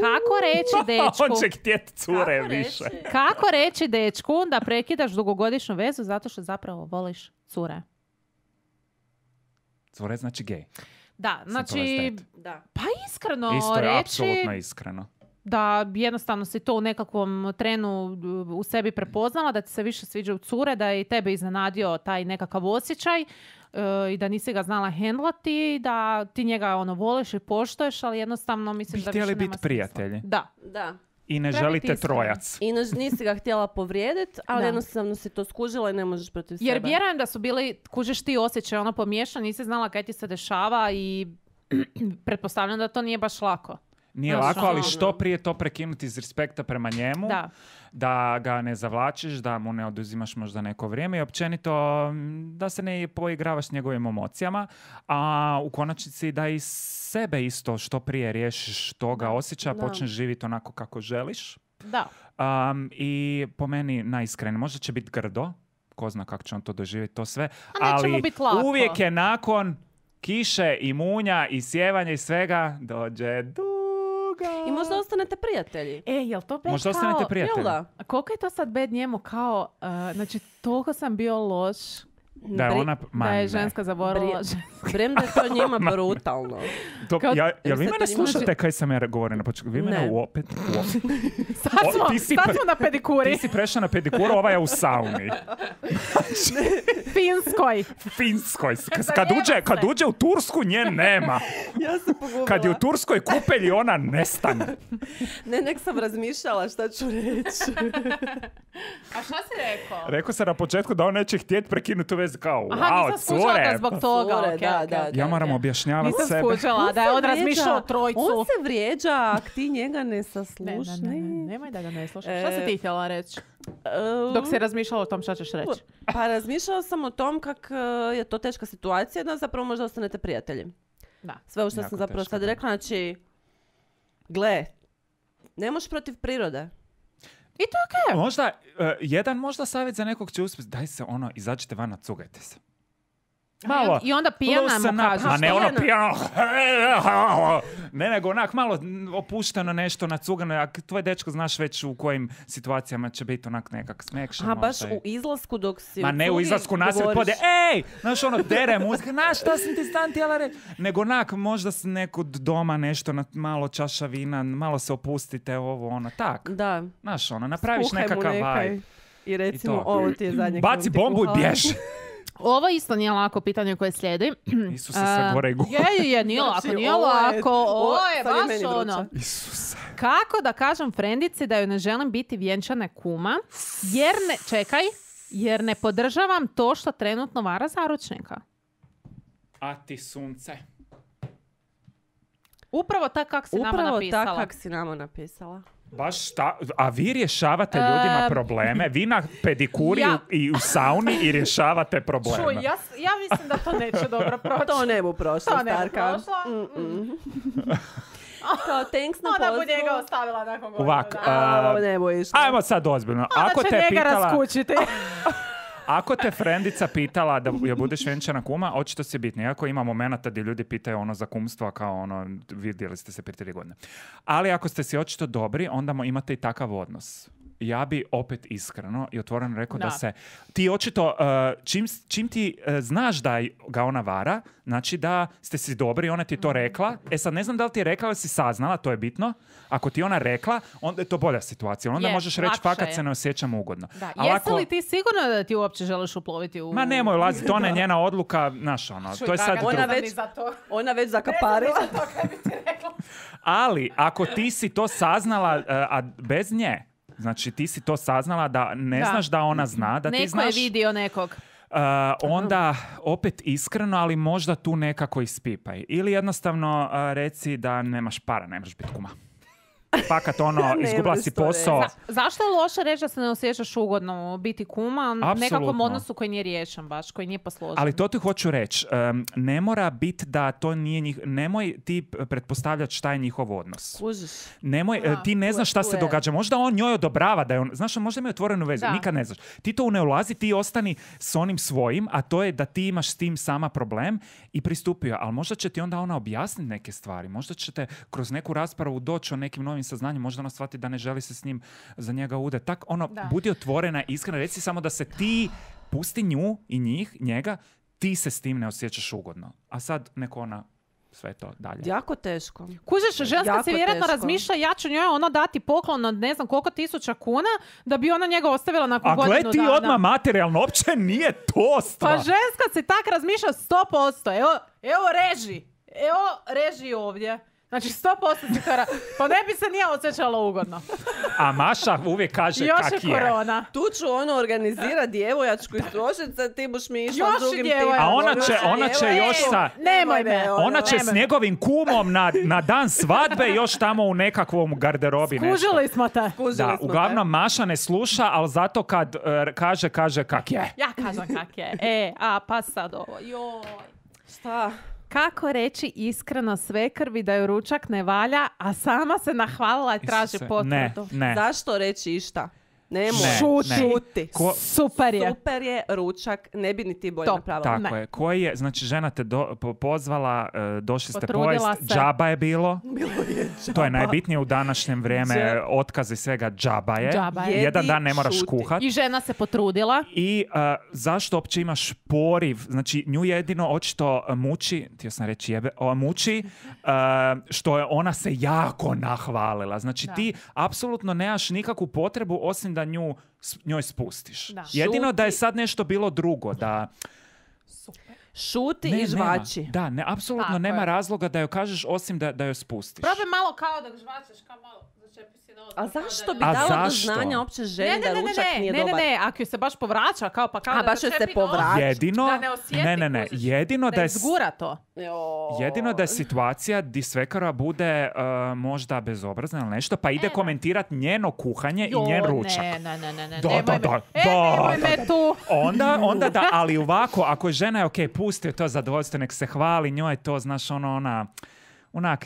Kako reći dečku? On će htjeti cure Kako više. reći? Kako reći dečku da prekidaš dugogodišnju vezu zato što zapravo voliš cure? Cure znači gej. Da, znači, Single Da. pa iskreno Isto je reći apsolutno iskreno. da jednostavno si to u nekakvom trenu u sebi prepoznala, da ti se više sviđaju cure, da je i tebe iznenadio taj nekakav osjećaj i da nisi ga znala hendlati, da ti njega ono voliš i poštoješ, ali jednostavno misliš Bi da htjeli više nema biti smisla. prijatelji. Da. I ne Treba želite biti iskreno. trojac. I nisi ga htjela povrijediti, ali Da. jednostavno si to skužila i ne možeš protiv Jer sebe. vjerujem da su bili, kužiš ti osjećaj, ono pomiješan, nisi znala kaj ti se dešava i pretpostavljam da to nije baš lako. Nije Znaš, lako, ali ono- što prije to prekinuti iz respekta prema njemu, da ga ne zavlačiš, da mu ne oduzimaš možda neko vrijeme i općenito da se ne poigravaš s njegovim emocijama, a u konačnici da i sebe isto što prije riješiš toga osjećaja, Da. počneš živjeti onako kako želiš. Da. I po meni najiskrenije, možda će biti grdo, ko zna kako će on to doživjeti, to sve, A neće mu ali bit lako. uvijek je nakon kiše i munja i sjevanja i svega dođe duga. I možda ostanete prijatelji. Jel to bed Možda kao... ostanete prijatelji. Jel da? A koliko je to sad bed njemu kao... znači, toliko sam bio loš Da je ona, ma da je ne. žena zaboravila. Brem da je to njima brutalno. To, Kao- jel vi sad mene to ima- slušate kaj sam ja govorio na početku? Vi mene Ne. opet... Sad smo, ti si sad pre- smo na pedikuri. Ti si prešla na pedikuru, ova je u sauni. Finskoj. Finskoj. Kad uđe u Tursku, nje nema. Ja se pogubila. Kad je u Turskoj kupelji, ona nestane. Nek sam razmišljala šta ću reći. A šta si rekao? Rekao sam na početku da on neće htjeti prekinuti tu vezu kao, Aha, wow, nisam skužila da cure. zbog toga. Cure, okej, da, okej, da, okej. Ja moram objašnjavati Nisam sebe. skužila da je on se razmišljao o vrijeđa. trojcu. On se vrijeđa, ak ti njega ne Ne, saslušaš. nemoj da ga ne slušaš. Šta si ti htjela reći? Dok Dok si razmišljala o tom šta ćeš reći. Pa razmišljala sam o tom kak je to teška situacija, da zapravo možda ostanete prijatelji. Da. Sve ovo što Jako sam zapravo teško, sad da. rekla, znači, gle, ne možeš protiv prirode. I to je okej. Možda, jedan možda savjet za nekog će uspjeti, daj se ono, izađite van, cugajte se. Malo. I onda pijana loosen mu up. kažeš. A ne ono pijana? pijano. Ne, nego onak malo opušteno nešto, nacugano. A tvoj dečko znaš već u kojim situacijama će biti onak nekak smekšan. A baš možda i- u izlasku dok si Ma ne u cugi izlasku nasred govoriš. podje, ej! Znaš ono, dere muzika, znaš šta sam ti stan htjela reći? Nego onak, možda s nekud doma nešto, malo čaša vina, malo se opustite, ovo, ono, tak. Da. Znaš ono, napraviš Skuhaj mu nekakav nekaj vibe. I recimo, to. ovo ti je zadnje. Baci bombu i bježi. Ovo isto nije lako pitanje koje slijedi. Isuse, sve gore i gore. Je, nije lako, Znači, nije ovo je- lako. Ovo je sad je meni baš vruće. ono. Isuse. Kako da kažem frendici da joj ne želim biti vjenčana kuma, jer ne podržavam to što trenutno vara zaručnika. A ti sunce. Upravo tak kak si nama Upravo napisala. tako kako si nama napisala. Baš a vi rješavate ljudima probleme, vi na pedikuri Ja. i u sauni i rješavate probleme. Čuj, ja mislim da to neće dobro proći. To ne bu prošlo, To ne bu Starka. prošlo. Kao, thanks na Ona bu pozivu. njega ostavila nakon godinu Ovak, dana. Ovo ne bu išlo. Ajmo sad ozbiljno. Ona Ako će te njega pitala, raskućiti. ako te frendica pitala da joj budeš vjenčana kuma, očito si bitno. Iako ima momenata gdje ljudi pitaju ono za kumstvo, kao ono, vidjeli ste se prije 3 godine. Ali ako ste si očito dobri, onda imate i takav odnos. Ja bi opet iskreno i otvoreno rekao da se ti očito, čim ti znaš da ga ona vara, znači da ste si dobri, ona ti je to rekla. E sad ne znam da li ti je rekla ili si saznala, to je bitno. Ako ti ona rekla, onda je to bolja situacija. Onda možeš reći fakat se ne osjećam ugodno. Da. Ali Jesi li ti sigurno da ti uopće želiš uploviti u... Ma nemoj ulaziti, to je njena odluka, znaš ono, to je sad Ona već zakaparila. Ali, ako ti si to saznala, a bez nje, znači ti si to saznala da ne znaš da ona zna, da ti znaš... Neko je vidio nekog. Onda opet iskreno, ali možda tu nekako ispipaj. Ili jednostavno reci da nemaš para, ne možeš biti kuma. Fakat ono, izgubila si posao. Zašto je loše reći da se ne osjećaš ugodno biti kuma u nekakvom odnosu koji nije riješen baš, koji nije posložen? Ali to ti hoću reći. Ne mora biti da to nije nemoj ti pretpostavljati šta je njihov odnos. Kužiš. Nemoj, ti ne znaš šta se događa. Možda on njoj odobrava da je on, znaš, možda imaju otvorenu vezu, nikad ne znaš. Ti to ne ulazi, ti ostani s onim svojim, a to je da ti imaš s tim sama problem i pristupio. Ali možda će ti onda ona objasniti neke stvari. Možda ćete kroz neku raspravu doći o nekim novim saznanjem, možda ona shvati da ne želi se s njim za njega udati. Tak, budi otvorena, iskrena, reci samo da se ti pusti nju i njega, ti se s tim ne osjećaš ugodno. A sad neko ona sve to dalje. Jako teško. Kužiš, ženska se vjerojatno razmišlja, ja ću njoj dati poklon od ne znam koliko 1000 kuna da bi ona njega ostavila nakon godinu dana. A gle ti odmah materijalno, uopće nije to stvar. Pa ženska se tak razmišlja 100%. Evo reži ovdje. Znači 100% si to pa ne bi se nije osjećala ugodno. A Maša uvijek kaže kak je. Još je korona. Tu ću organizira djevojačku istrošica, ti buš mi išla s drugim tim. A ona će još sa... Nemoj me. Ona će s njegovim kumom na dan svadbe još tamo u nekakvom garderobi nešto. Skužili smo te. Da, uglavnom Maša ne sluša, ali zato kad kaže kak je. Ja kažem kak je. Pa sad ovo. Joj. Šta? Kako reći iskreno svekrvi da joj ručak ne valja, a sama se nahvalila i traži potvrdu? Ne. Zašto reći išta? Nemoj. Šuti. Super je. Super je ručak, ne bi ni ti bolje napravila. Tako je. Koji je, znači žena te pozvala, došli ste pojest, se. džaba je bilo. Bilo je džaba. To je najbitnije u današnjem vrijeme, otkaz i svega, džaba je. Jedan dan ne moraš kuhat. I žena se potrudila. I zašto uopće imaš poriv? Znači nju jedino očito muči, htio sam reći muči, što je ona se jako nahvalila. Znači ti apsolutno nemaš nikakvu potrebu osim da njoj spustiš. Da. Jedino da je sad nešto bilo drugo, da... Šuti i žvači. Da, apsolutno nema razloga da joj kažeš osim da joj spustiš. Probaj malo kao da žvačeš, kao malo začepi si nos. A zašto bi dala do znanja opće ženi da ručak nije dobar? Ne, ako ju se baš povraća, kao pa kao da začepi nos. Jedino, da ne osjeti, jedino da izgura to. Jedino da je situacija di svekara bude možda bezobrazna ili nešto, pa ide komentirati njeno kuhanje i njen ručak. Ne. Nemoj me tu. Onda da, ali ovako, ako je žena pusti to zadovoljstvo, nek se hvali, njoj je to, znaš,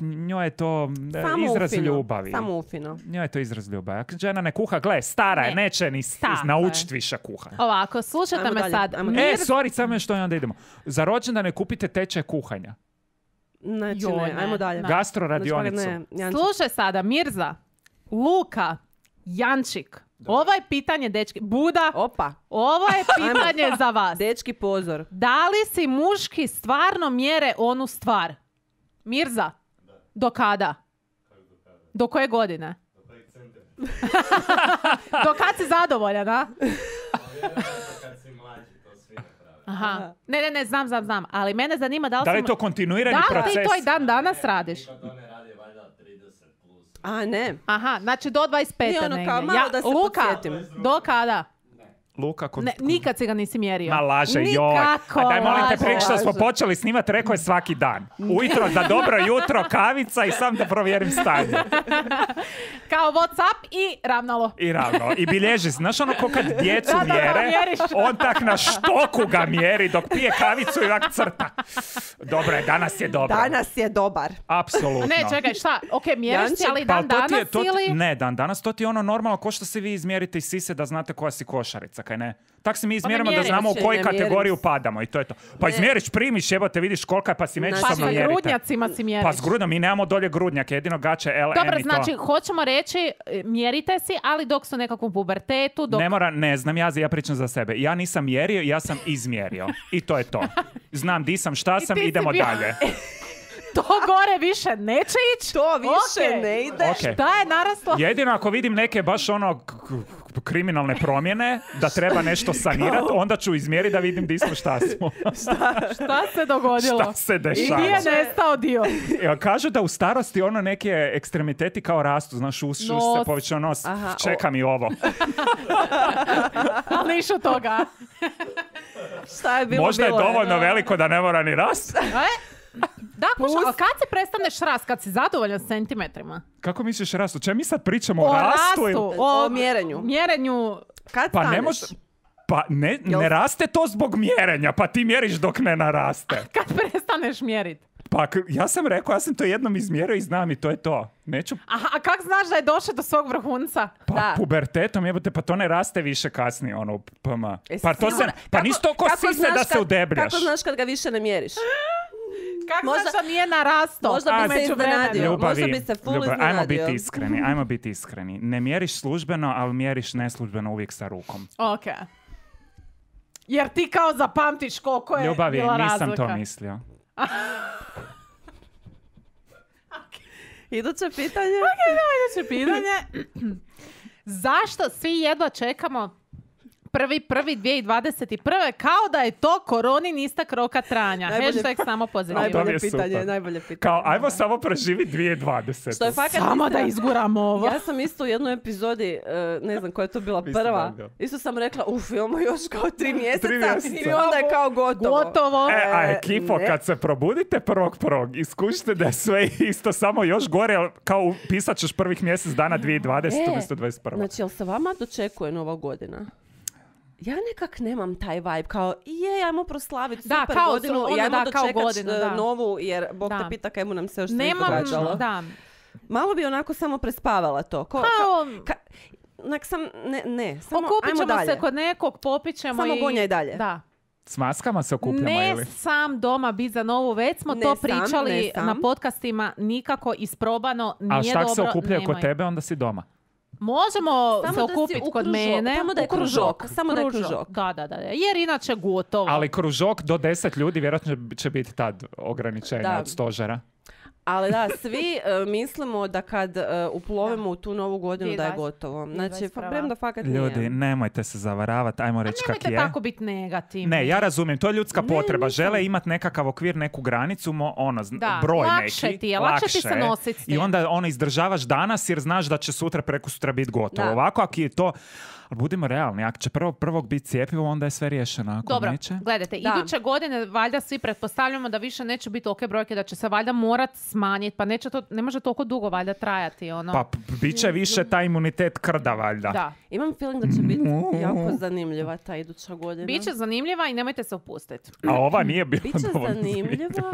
njoj je to izraz ljubavi. Samo ufino. Njoj je to izraz ljubavi. Ako žena ne kuha, gle, stara je, neće ni naučiti više kuha. Ovako, slušajte me sad. Samo još to i onda idemo. Za rođendan ne kupite tečaj kuhanja. Znači ne, ajmo dalje. Gastro radionicu. Slušaj sada, Mirza, Luka, Jančik. Ovo je pitanje, dečki. Buda, ovo je pitanje za vas. Dečki, pozor. Da li si muški stvarno mjere onu stvar? Mirza, do kada? Do koje godine? Do kad si zadovoljan, a? Aha. Ne, znam. Ali mene zanima da li je to kontinuirani proces? Da li ti to i dan danas radiš? A ne. Aha, znači do 25. Nije ono kao malo da se Luka, podsjetim. do kada? Luka? Nikad si ga nisi mjerio. Ma laže, joj. Nikako, A daj molim te, laže. prije što smo počeli snimati, rekao je svaki dan. Ujutro za dobro jutro, kavica i sam da provjerim stanje. Kao Whatsapp i ravnalo. I ravno. I bilježi. Znaš ono ko kad djecu Da, mjere, mjeriš. on tak na štoku ga mjeri dok pije kavicu i ovak crta. Dobro je, danas je dobro. Danas je dobar. Apsolutno. Ne, čekaj, šta? Ok, mjeriš si, ali Pa dan to ti je- danas to ti- ili... Ne, dan danas to ti je ono normalno ko što se vi izmjerite iz sise da znate koja si košarica, kaj ne? Tak se mi izmjerimo da mjeriš, znamo u ne koju mjerim. kategoriju padamo i to je to. Pa izmjeriš, primiš, jebote, vidiš kolika je pa si Znači, Pa međusobno sa mjerite. grudnjacima si mjeriš. Pa s grudom, mi nemamo dolje grudnjake, jedino gače LM Dobro, i to. znači, hoćemo reći, mjerite si, ali dok su u nekakvom pubertetu, dok... Ne znam, ja pričam za sebe. Ja nisam mjerio, ja sam izmjerio. I to je to. Znam di sam, šta sam, ti si idemo bio- dalje. To gore više neće ići. To više Ok. ne ide. Ok. Šta je naraslo? Jedino ako vidim neke baš ono kriminalne promjene, da treba nešto sanirati, onda ću izmjeriti da vidim di smo, šta smo. Šta se dogodilo? Šta se I dešava? gdje je nestao dio? Evo, kažu da u starosti ono neke ekstremiteti kao rastu, znaš, ušću se, Nos. povećao nos, Aha, čeka mi ovo. Ali niš od toga. Šta je bilo? Možda je bilo dovoljno veliko da ne mora ni rast. Da, kuša, ali kad se prestaneš rast? Kad si zadovoljan s centimetrima? Kako misliš rast? O čemu mi sad pričamo? O O rastu? rastu, O mjerenju. mjerenju. Kad Pa ne staneš? može... Pa ne raste to zbog mjerenja, pa ti mjeriš dok ne naraste. Kad prestaneš mjerit? Pa ja sam rekao, ja sam to jednom izmjerio i znam i to je to. Neću, Aha, a kak znaš da je došao do svog vrhunca? pa Da. pubertetom, jebote, pa to ne raste više kasnije, ono, PM. Jesi Pa to se, sigurna? pa Kako- nisi to ko kako sise znaš da se kad- udebljaš. Kako znaš kad ga više ne mjeriš? Kak Možda- znaš da nije narastao? možda bi A, se međuvremenu. iznenadio. Ljubavi, Možda bi se full ajmo iznenadio. biti iskreni. Ne mjeriš službeno, ali mjeriš neslužbeno uvijek sa rukom. Ok. Jer ti kao zapamtiš koliko je Ljubavi, bila nisam razlika. to mislio. Iduće pitanje? Sljedeće pitanje. Zašto svi jedva čekamo 1.1.2021. kao da je to koronin istak roka trajanja? Najbolje- Hashtag samo pozitivno. to mi Najbolje je pitanje, super. najbolje pitanje. Kao, ajmo samo preživi 2020. Što je fakat Samo da istina. izguramo ovo. Ja sam isto u jednoj epizodi, ne znam koja je to bila Vi ste prva, dobro. isto sam rekla, imamo još kao 3 mjeseca, mjeseca. i onda je kao gotovo. Gotovo. A ekipo, ne. kad se probudite 1.1. iskušite da je sve isto, samo još gore, ali kao pisat ćeš prvih mjesec dana 2020. umjesto 21. Znači, jel se vama dočekuje nova godina? Ja nekak nemam taj vibe, kao ajmo proslaviti Da, super kao godinu ono, i ajmo da, kao dočekat godinu, da. novu, jer Bog Da. te pita kaj mu nam se još sve Nemam, događalo. da. Malo bi onako samo prespavala to. Kao, Onak sam, samo okupit ajmo ćemo dalje. se kod nekog, popit ćemo Samo i... gonjaj dalje. Da. S maskama se okupljamo Ne ili? sam doma biti za novu, već smo Ne to sam, pričali ne sam. na podcastima, nikako isprobano, nije A šta dobro. se okupljaju kod nemoj. tebe, onda si doma. Možemo Samo se da si okupiti u kod kružok, mene. samo da je u kružok. samo da je kružok. Da. Jer inače gotovo. Ali kružok do 10 ljudi vjerojatno će biti tad ograničenja Da. od stožera. Ali da, svi mislimo da kad uplovimo u tu novu godinu da je 2020. gotovo. Znači, 2021. premda fakat Ljudi, nije. nemojte se zavaravati, ajmo reći kak Nemojte je. tako biti negativni. Ne, ja razumijem, to je ljudska Ne, potreba. nisam. Žele imati nekakav okvir, neku granicu, Da, broj lakše neki. ti je, lakše ti se nositi s I tim. onda ono izdržavaš danas jer znaš da će sutra, prekosutra biti gotovo. Da. Ovako, ako je to... Ali budimo realni, ako će prvog biti cijepivo, onda je sve riješeno. Ako Dobro, neće... gledajte, Da. iduće godine valjda svi pretpostavljamo da više neće biti ok brojke, da će se valjda morat smanjiti, pa ne može toliko dugo valjda trajati. Ono. Pa bit će više taj imunitet krda, valjda. Da. Imam feeling da će biti jako zanimljiva ta iduća godina. Biće zanimljiva i nemojte se opustiti. A ova nije bila Biće dovoljno zanimljiva.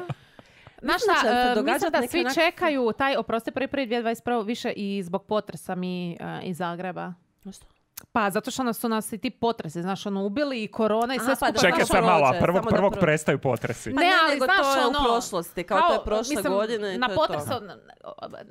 Znaš Mislim da će se šta, događat mislim da neke svi onak- čekaju taj, oprosti, 1.1.2021. više i zbog potresa mi iz Zagreba. Što? Pa, zato što su nas i ti potresi, znaš, ono, ubili i korona i sve Aha, pa skupa. da, Čekaj Znaš, sad malo, a prođe, samo da prvog prođe. prestaju potresi. Pa Ne, ne, ali nego znaš, to je u ono, prošlosti, kao to je prošle godine i na to je to. potresu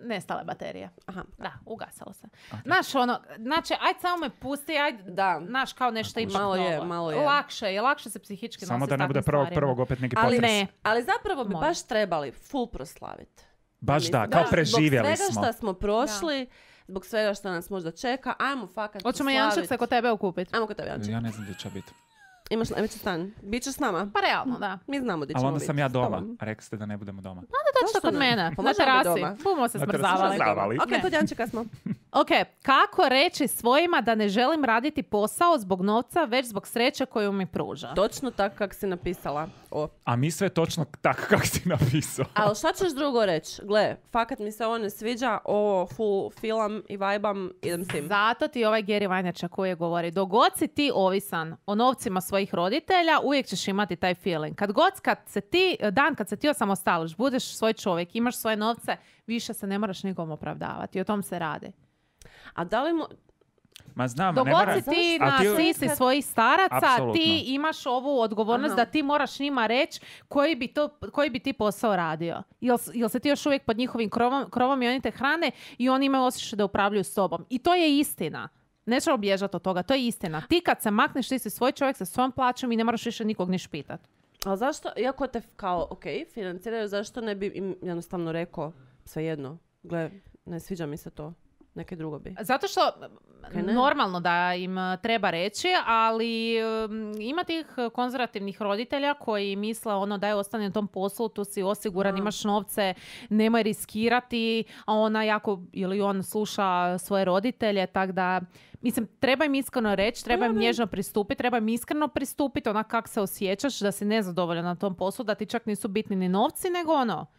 nestale baterije. Aha. Da, ugasalo se. Znaš, ono, znači, ajde samo me pusti, ajde, Da. znaš, kao nešto ipak Malo je, novo. malo je. Lakše se psihički Samo nositi da s ne bude takvim stvarima. prvog opet neki Ali potres. ne. Ali zapravo bi Mora. baš trebali full proslaviti. Baš da, Mislim, kao da, preživjeli Zbog smo. svega što smo prošli, zbog svega što nas možda čeka, ajmo fakat Hoćemo proslavit. Janček se kod tebe okupiti. Ajmo kod tebe, Janček. Ja ne znam gdje će biti. Imaš najveći stan. Bićeš s nama? Pa realno, da. Mi znamo gdje ćemo Ali onda biti. sam ja s doma. tobom. A rekli ste da ne budemo doma. Dođite kod ne? mene, Pa na možemo biti terasi. doma. Bumo se Na terasi smrzavali. smrzavali. Ok, Ne. kod Jančeka smo. Ok, kako reći svojima da ne želim raditi posao zbog novca, već zbog sreće koju mi pruža? Točno tako kako si napisala. A mi sve točno tako kako si napisao. Ali šta ćeš drugo reći? Gle, fakat mi se ovo ne sviđa, ovo full filam i vajbam, idem s tim. Zato ti ovaj Gary Vaynerchuk koji govori, dogod si ti ovisan o novcima svojih roditelja, uvijek ćeš imati taj feeling. Kad se ti osamostališ, budeš svoj čovjek, imaš svoje novce, više se ne moraš nikom opravdavati. O tom se radi. A da li Ma znam, Dogod ne mora... si ti A na sisi svojih staraca, Apsolutno. ti imaš ovu odgovornost da ti moraš njima reći koji bi ti posao radio. Jel se ti još uvijek pod njihovim krovom i oni te hrane i oni imaju osjećaj da upravljaju sobom. I to je istina. Nećemo bježati od toga, to je istina. Ti kad se makneš, ti si svoj čovjek sa svojom plaćom i ne moraš više nikog niš pitati. Ali zašto, iako te kao, financiraju, zašto ne bi im jednostavno rekao svejedno? Gle, ne sviđa mi se to. Neke drugo bi. Zato što normalno da im treba reći, ali ima tih konzervativnih roditelja koji misle daj ostani na tom poslu, tu si osiguran, imaš novce, nemoj riskirati, a ona ili on sluša svoje roditelje, tako da mislim, treba im iskreno reći, treba im nježno pristupiti, treba im iskreno pristupiti, kak se osjećaš, da si nezadovoljan na tom poslu, da ti čak nisu bitni ni novci, nego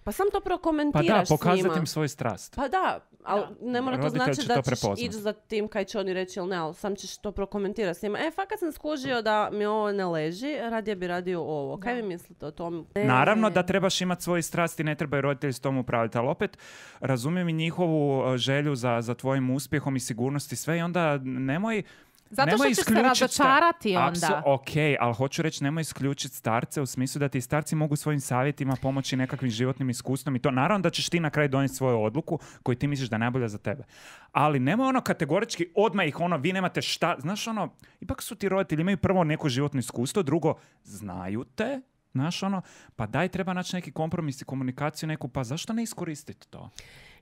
Pa sam to prokomentiraš s njima. Pa da, pokazati im svoj strast. Pa da, ali ne mora to Roditelj znači će da to ćeš prepoznat. ići za tim kaj će oni reći ili ne, ali sam ćeš to prokomentirati s njima. Fakat sam skužio da mi ovo ne leži, radije bi radio ovo. Kaj vi mislite o tom? Naravno da trebaš imati svoje strasti, ne trebaju roditelji s tom upraviti, ali opet razumijem i njihovu želju za tvojim uspjehom i sigurnosti sve i onda nemoj... Zato što ćeš se razočarati onda. Ok, ali hoću reći, nemoj isključiti starce u smislu da ti starci mogu svojim savjetima pomoći nekakvim životnim iskustvom i to naravno da ćeš ti na kraju donijeti svoju odluku koju ti misliš da je najbolja za tebe. Ali nemoj kategorički odmah ih vi nemate šta, znaš ipak su ti roditelji, imaju prvo neko životno iskustvo, drugo, znaju te, znaš pa daj treba naći neki kompromis i komunikaciju neku, pa zašto ne iskoristiti to?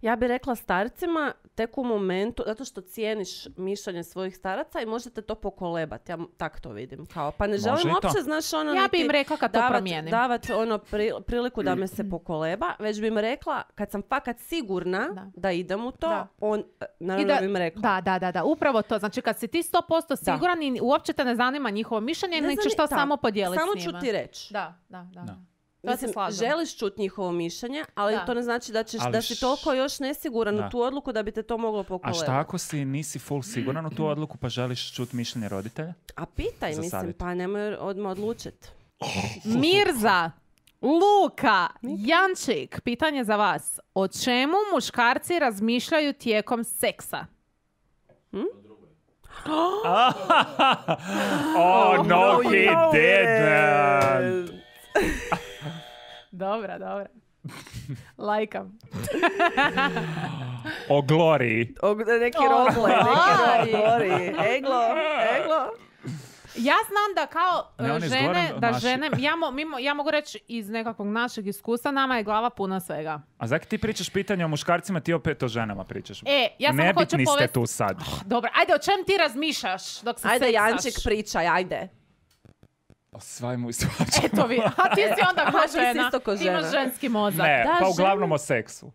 Ja bih rekla starcima tek u momentu, zato što cijeniš mišljenje svojih staraca i možete to pokolebati. Ja tak to vidim. Pa ne želim uopće, znaš, ja bih im rekla kad to promijenim. Davati priliku da me se pokoleba, već bi im rekla, kad sam fakat sigurna da idem u to, naravno bi im rekla. Da, upravo to. Znači kad si ti 100% siguran i uopće te ne zanima njihovo mišljenje, nego ćeš to samo podijeliti s njima. Samo ću ti reći. Da. Mislim, želiš čuti njihovo mišljenje, ali to ne znači da si toliko još nesiguran u tu odluku da bi te to moglo pokolebati. A šta ako nisi full siguran u tu odluku pa želiš čuti mišljenje roditelja? A pitaj, mislim, pa nemoj odmah odlučiti. Mirza, Luka, Jančik, pitanje za vas. O čemu muškarci razmišljaju tijekom seksa? Oh, no, he didn't. Dobra. Lajkam. O gloriji. Neki roleplay. Eglo. Ja znam da kao žene, ja mogu reći iz nekakvog našeg iskustva, nama je glava puna svega. A zaki ti pričaš pitanje o muškarcima, ti opet o ženama pričaš. Ja samo hoću Nebitni ste tu sad. Dobro, ajde, o čem ti razmišljaš dok se seksaš? Ajde, Jančik, pričaj, ajde. Svaj mu i svača. Eto vi, a ti si onda ko žena. Ti imaš ženski mozak. Ne, pa uglavnom o seksu.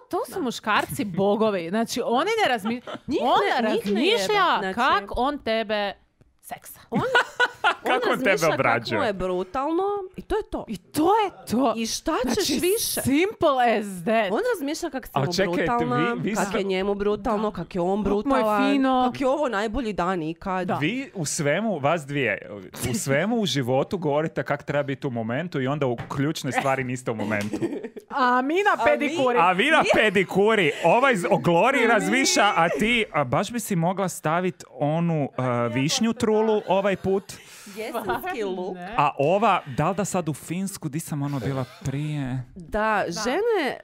To su muškarci bogovi. Znači, oni ne razmišljaju. On razmišlja kako on tebe seksa. On tebe obrađuje. Kako je brutalno i to je to. I šta ćeš više? Simple as that. On razmišlja kako si mu brutalna, kako je njemu brutalno, kako je on brutalan, kako je ovo najbolji dan ikad. Vi u svemu, vas dvije, u svemu u životu govorite kako treba biti u momentu i onda u ključne stvari niste u momentu. A mi na pedikuri. A vi na pedikuri. Ovaj o gloriji razmišlja, a ti baš bi si mogla staviti onu višnju trulu ovaj put. Jesenski luk. A ova, da li da sad u Finsku, di sam bila prije? Da, žene,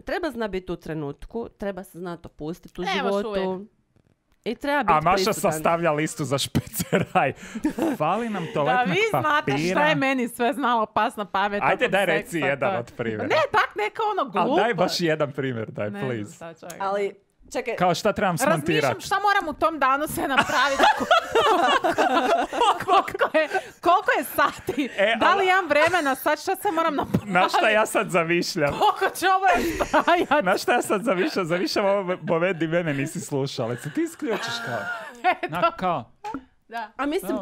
treba zna biti u trenutku, treba se znati opustiti u životu. I treba biti prisutan. A Maša sastavlja listu za špeceraj. Fali nam toaletnog papira. Da vi znate šta je meni sve znalo pas na pamet. Ajde, daj reci jedan od primjera. Ne, tak neka glupo. Ali daj baš jedan primjer, daj, please. Ali, čekaj. Kao šta trebam smontirati? Razmišljam šta moram u tom danu se napraviti. Koliko je sati Znači, da li imam vremena, sad šta se moram napraviti? Na šta ja sad zavišljam? Koliko će ovo trajati? Na šta ja sad zavišljam ovo moment di mene nisi slušala. Ali se ti isključiš kao. Da. A mislim,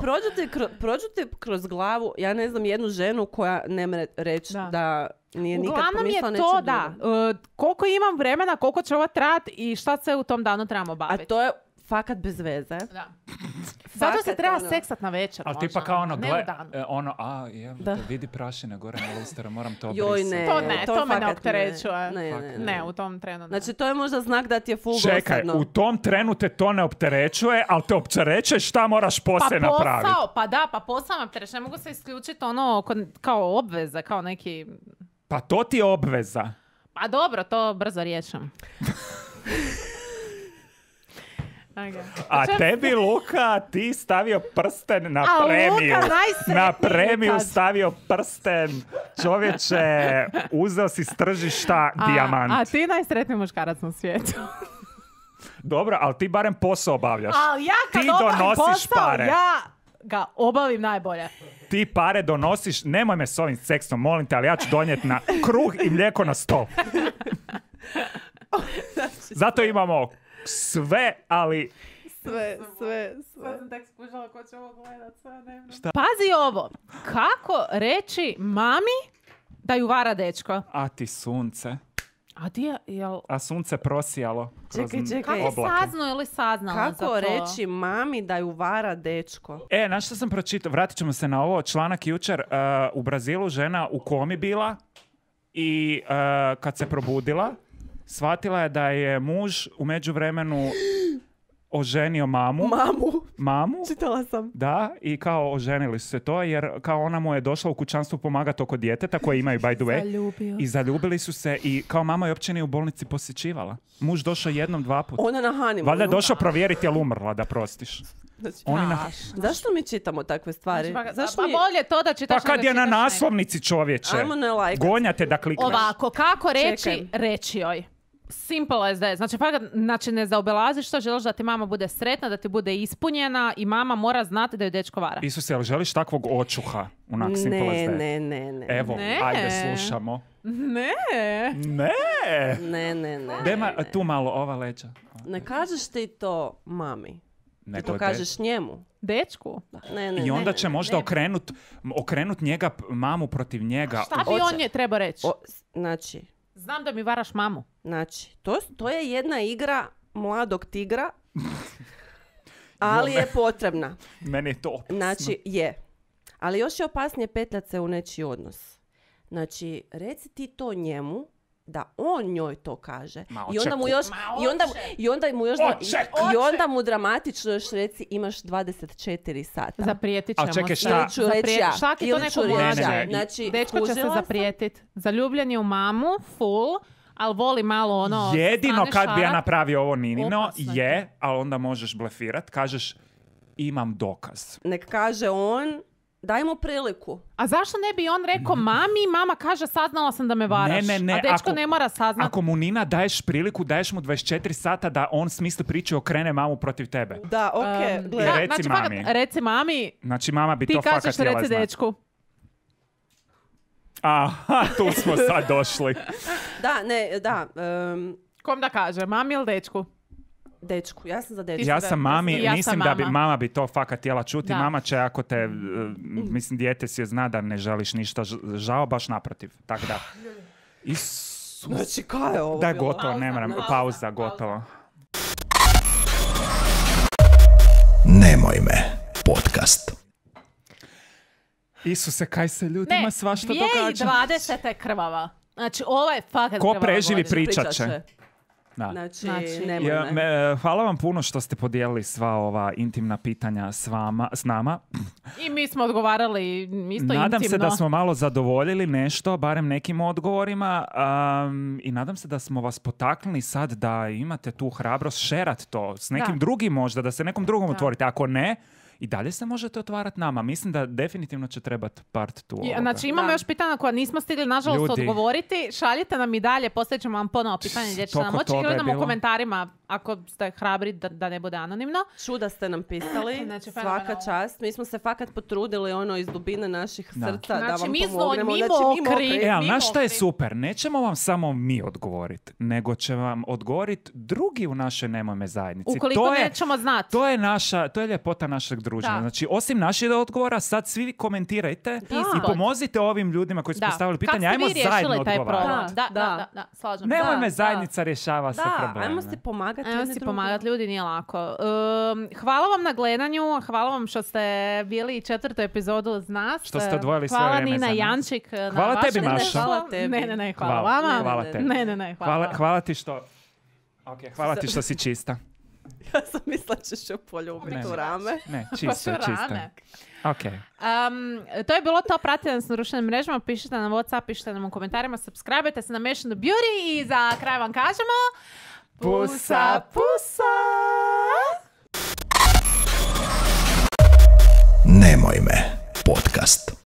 prođete kroz glavu, ja ne znam, jednu ženu koja ne može reći da nije nikad pomislila nečem drugom. Uglavnom je to, da. Koliko imam vremena, koliko će ovo trajati i šta se u tom danu trebamo baviti. A to je fakat bez veze. Da. Zato se treba seksat na večer. Ali tipa kao ne vidi prašine gore na lusteru, moram to brisati. To me ne opterećuje. Ne, u tom trenu. Znači, to je možda znak da ti je full dosadno. Čekaj, u tom trenu te to ne opterećuje, ali te opterećuje šta moraš poslije napraviti. Pa posao me opterećuje. Ne mogu se isključiti kao obveze, kao neki... Pa to ti je obveza. Pa dobro, to brzo riješim. Okay. A tebi, Luka, ti stavio prsten na premiju. Na premiju stavio prsten. Čovječe, uzeo si s tržišta dijamant. A ti najsretniji muškarac na svijetu. Dobro, ali ti barem posao obavljaš. Ali ja kad ti obavim donosiš posao, pare. ja ga obavim najbolje. Ti pare donosiš, nemoj me s ovim seksom, molim te, ali ja ću donijeti na kruh i mlijeko na stol. Zato imamo sve, ali... Sve. Sad sam tek skušala ko će ovo gledat, sve ne. Pazi ovo, kako reći mami da ju vara dečko? A ti sunce. A sunce prosijalo kroz čekaj. Kako saznao ili saznala za to? Kako reći mami da ju vara dečko? Znaš što sam pročitao? Vratit ćemo se na ovo. Članak jučer. U Brazilu žena u komi bila i kad se probudila, shvatila je da je muž u međuvremenu oženio mamu. Mamu? Čitala sam. Da, i kao oženili su se to, jer kao ona mu je došla u kućanstvu pomagati oko djeteta koje imaju by the way. I zaljubili su se i kao mama je uopće nije u bolnici posjećivala. Muž došao 1-2 puta. Ona na honeymoonu. Valjda je došao provjeriti je li umrla da prostiš. Zašto mi čitamo takve stvari? Bolje to da čitaš. Pa kad je na naslovnici, čovječe. Ajmo ne lajkat. Gonjate da klikneš. Ovako, kako reći, reći joj. Simple as that. Znači, ne zaobilaziš što, želiš da ti mama bude sretna, da ti bude ispunjena i mama mora znati da ju dečko vara. Isuse, ali želiš takvog očuha? Onak simple as that. Ne. Evo, ajde, slušamo. Ne. Dema, tu malo, ova leđa. Ne kažeš ti to mami. Ti to kažeš njemu. Dečku? I onda će možda okrenut njega, mamu protiv njega. Šta bi on treba reći? Znači... Znam da mi varaš mamu. Znači, to je jedna igra mladog tigra, ali je potrebna. Meni je to opasno. Znači, je. Ali još je opasnije petljat se u nečiji odnos. Znači, reci ti to njemu, da on njoj to kaže. I onda mu dramatično još reci imaš 24 sata. Zaprijetit ćemo se. Ili ću reći ja. Šaki to neko može. Znači, dečko će se zaprijetit. Zaljubljen je u mamu, full, ali voli malo ono... Jedino kad bi ja napravio ovo Ninino je, ali onda možeš blefirat, kažeš imam dokaz. Nek kaže on, daj mu priliku. A zašto ne bi on rekao mami, mama kaže saznala sam da me varaš. Ne. A dečko ne mora saznat. Ako mu Nina daješ priliku, daješ mu 24 sata da on smisli priču i okrene mamu protiv tebe. Da, okej. Reci mami. Reci mami. Znači mama bi to fakat htjela znati. Ti kažeš reci dečku. Aha, tu smo sad došli. Da. Kom da kaže, mami ili dečku? Dečku, ja sam za dečku. Ja sam mami, mislim da bi mama bi to fakat htjela čuti. Da. Mama će, ako te, mislim, dijete si zna da ne želiš ništa žao, baš naprotiv. Tako da. Isus. Znači, kaj je ovo? Da, gotovo, ne moram. Pauza, gotovo. Nemoj me, podcast. Isuse, kaj se ljudima svašta događa? 2020 je krvava. Znači, ovo je fakat krvava. Ko preživi pričat će. Da. Znači hvala vam puno što ste podijelili sva ova intimna pitanja s nama. I mi smo odgovarali isto intimno. Nadam se da smo malo zadovoljili nešto, barem nekim odgovorima, i nadam se da smo vas potaknuli sad da imate tu hrabrost šerat to s nekim drugim možda, da se nekom drugom otvorite. Ako ne, i dalje se možete otvarati nama. Mislim da definitivno će trebati part tu ovoga. Znači imamo još pitanja koja nismo stigli nažalost odgovoriti. Šaljite nam i dalje, postavit ćemo vam ponovo pitanje gdje ćete nam moći ili nam u komentarima ako ste hrabri da ne bude anonimno. Čuda ste nam pisali, Znači, svaka fenomenalno. čast. Mi smo se fakat potrudili iz dubine naših srca da Znači, vam mi smo pomognemo. mi Znači, mi mokri. mokri. Ali Mi znaš šta je mokri. super? Nećemo vam samo mi odgovoriti, nego će vam odgovoriti drugi u našoj Nemojme zajednici. Ukoliko nećemo znati. To je ljepota našeg druženja. Da. Znači, osim naših odgovora, sad svi komentirajte i pomozite ovim ljudima koji su postavili pitanje. Ajmo zajedno taj odgovarati. problem? Da, slažem se. Nemojme Da, zajednica rješava sve Da, probleme. ajmo si pomagati. Ajmo jedni si drugima. pomagati, ljudi, nije lako. Hvala vam na gledanju, hvala vam što ste bili 4. epizodu uz nas. Što ste odvojili sve hvala vrijeme Nina za nas. Jančik na Hvala tebi, vašem Maša. izvješću. Hvala tebi. Ne, hvala vama. Hvala tebi. Ne, hvala. Hvala ti što... hvala ti što si čista. Ja sam mislila ćeš joj poljubiti Ne. u rame. Ne, Pa čista, su čista. rame. Ok. To je bilo to, pratite nas na društvenim mrežama, pišite nam Whatsapp, pišite nam u komentarima, subscribe-te se na Mission the Beauty i za kraj vam kažemo Pusa, pusa! Nemoj me podcast.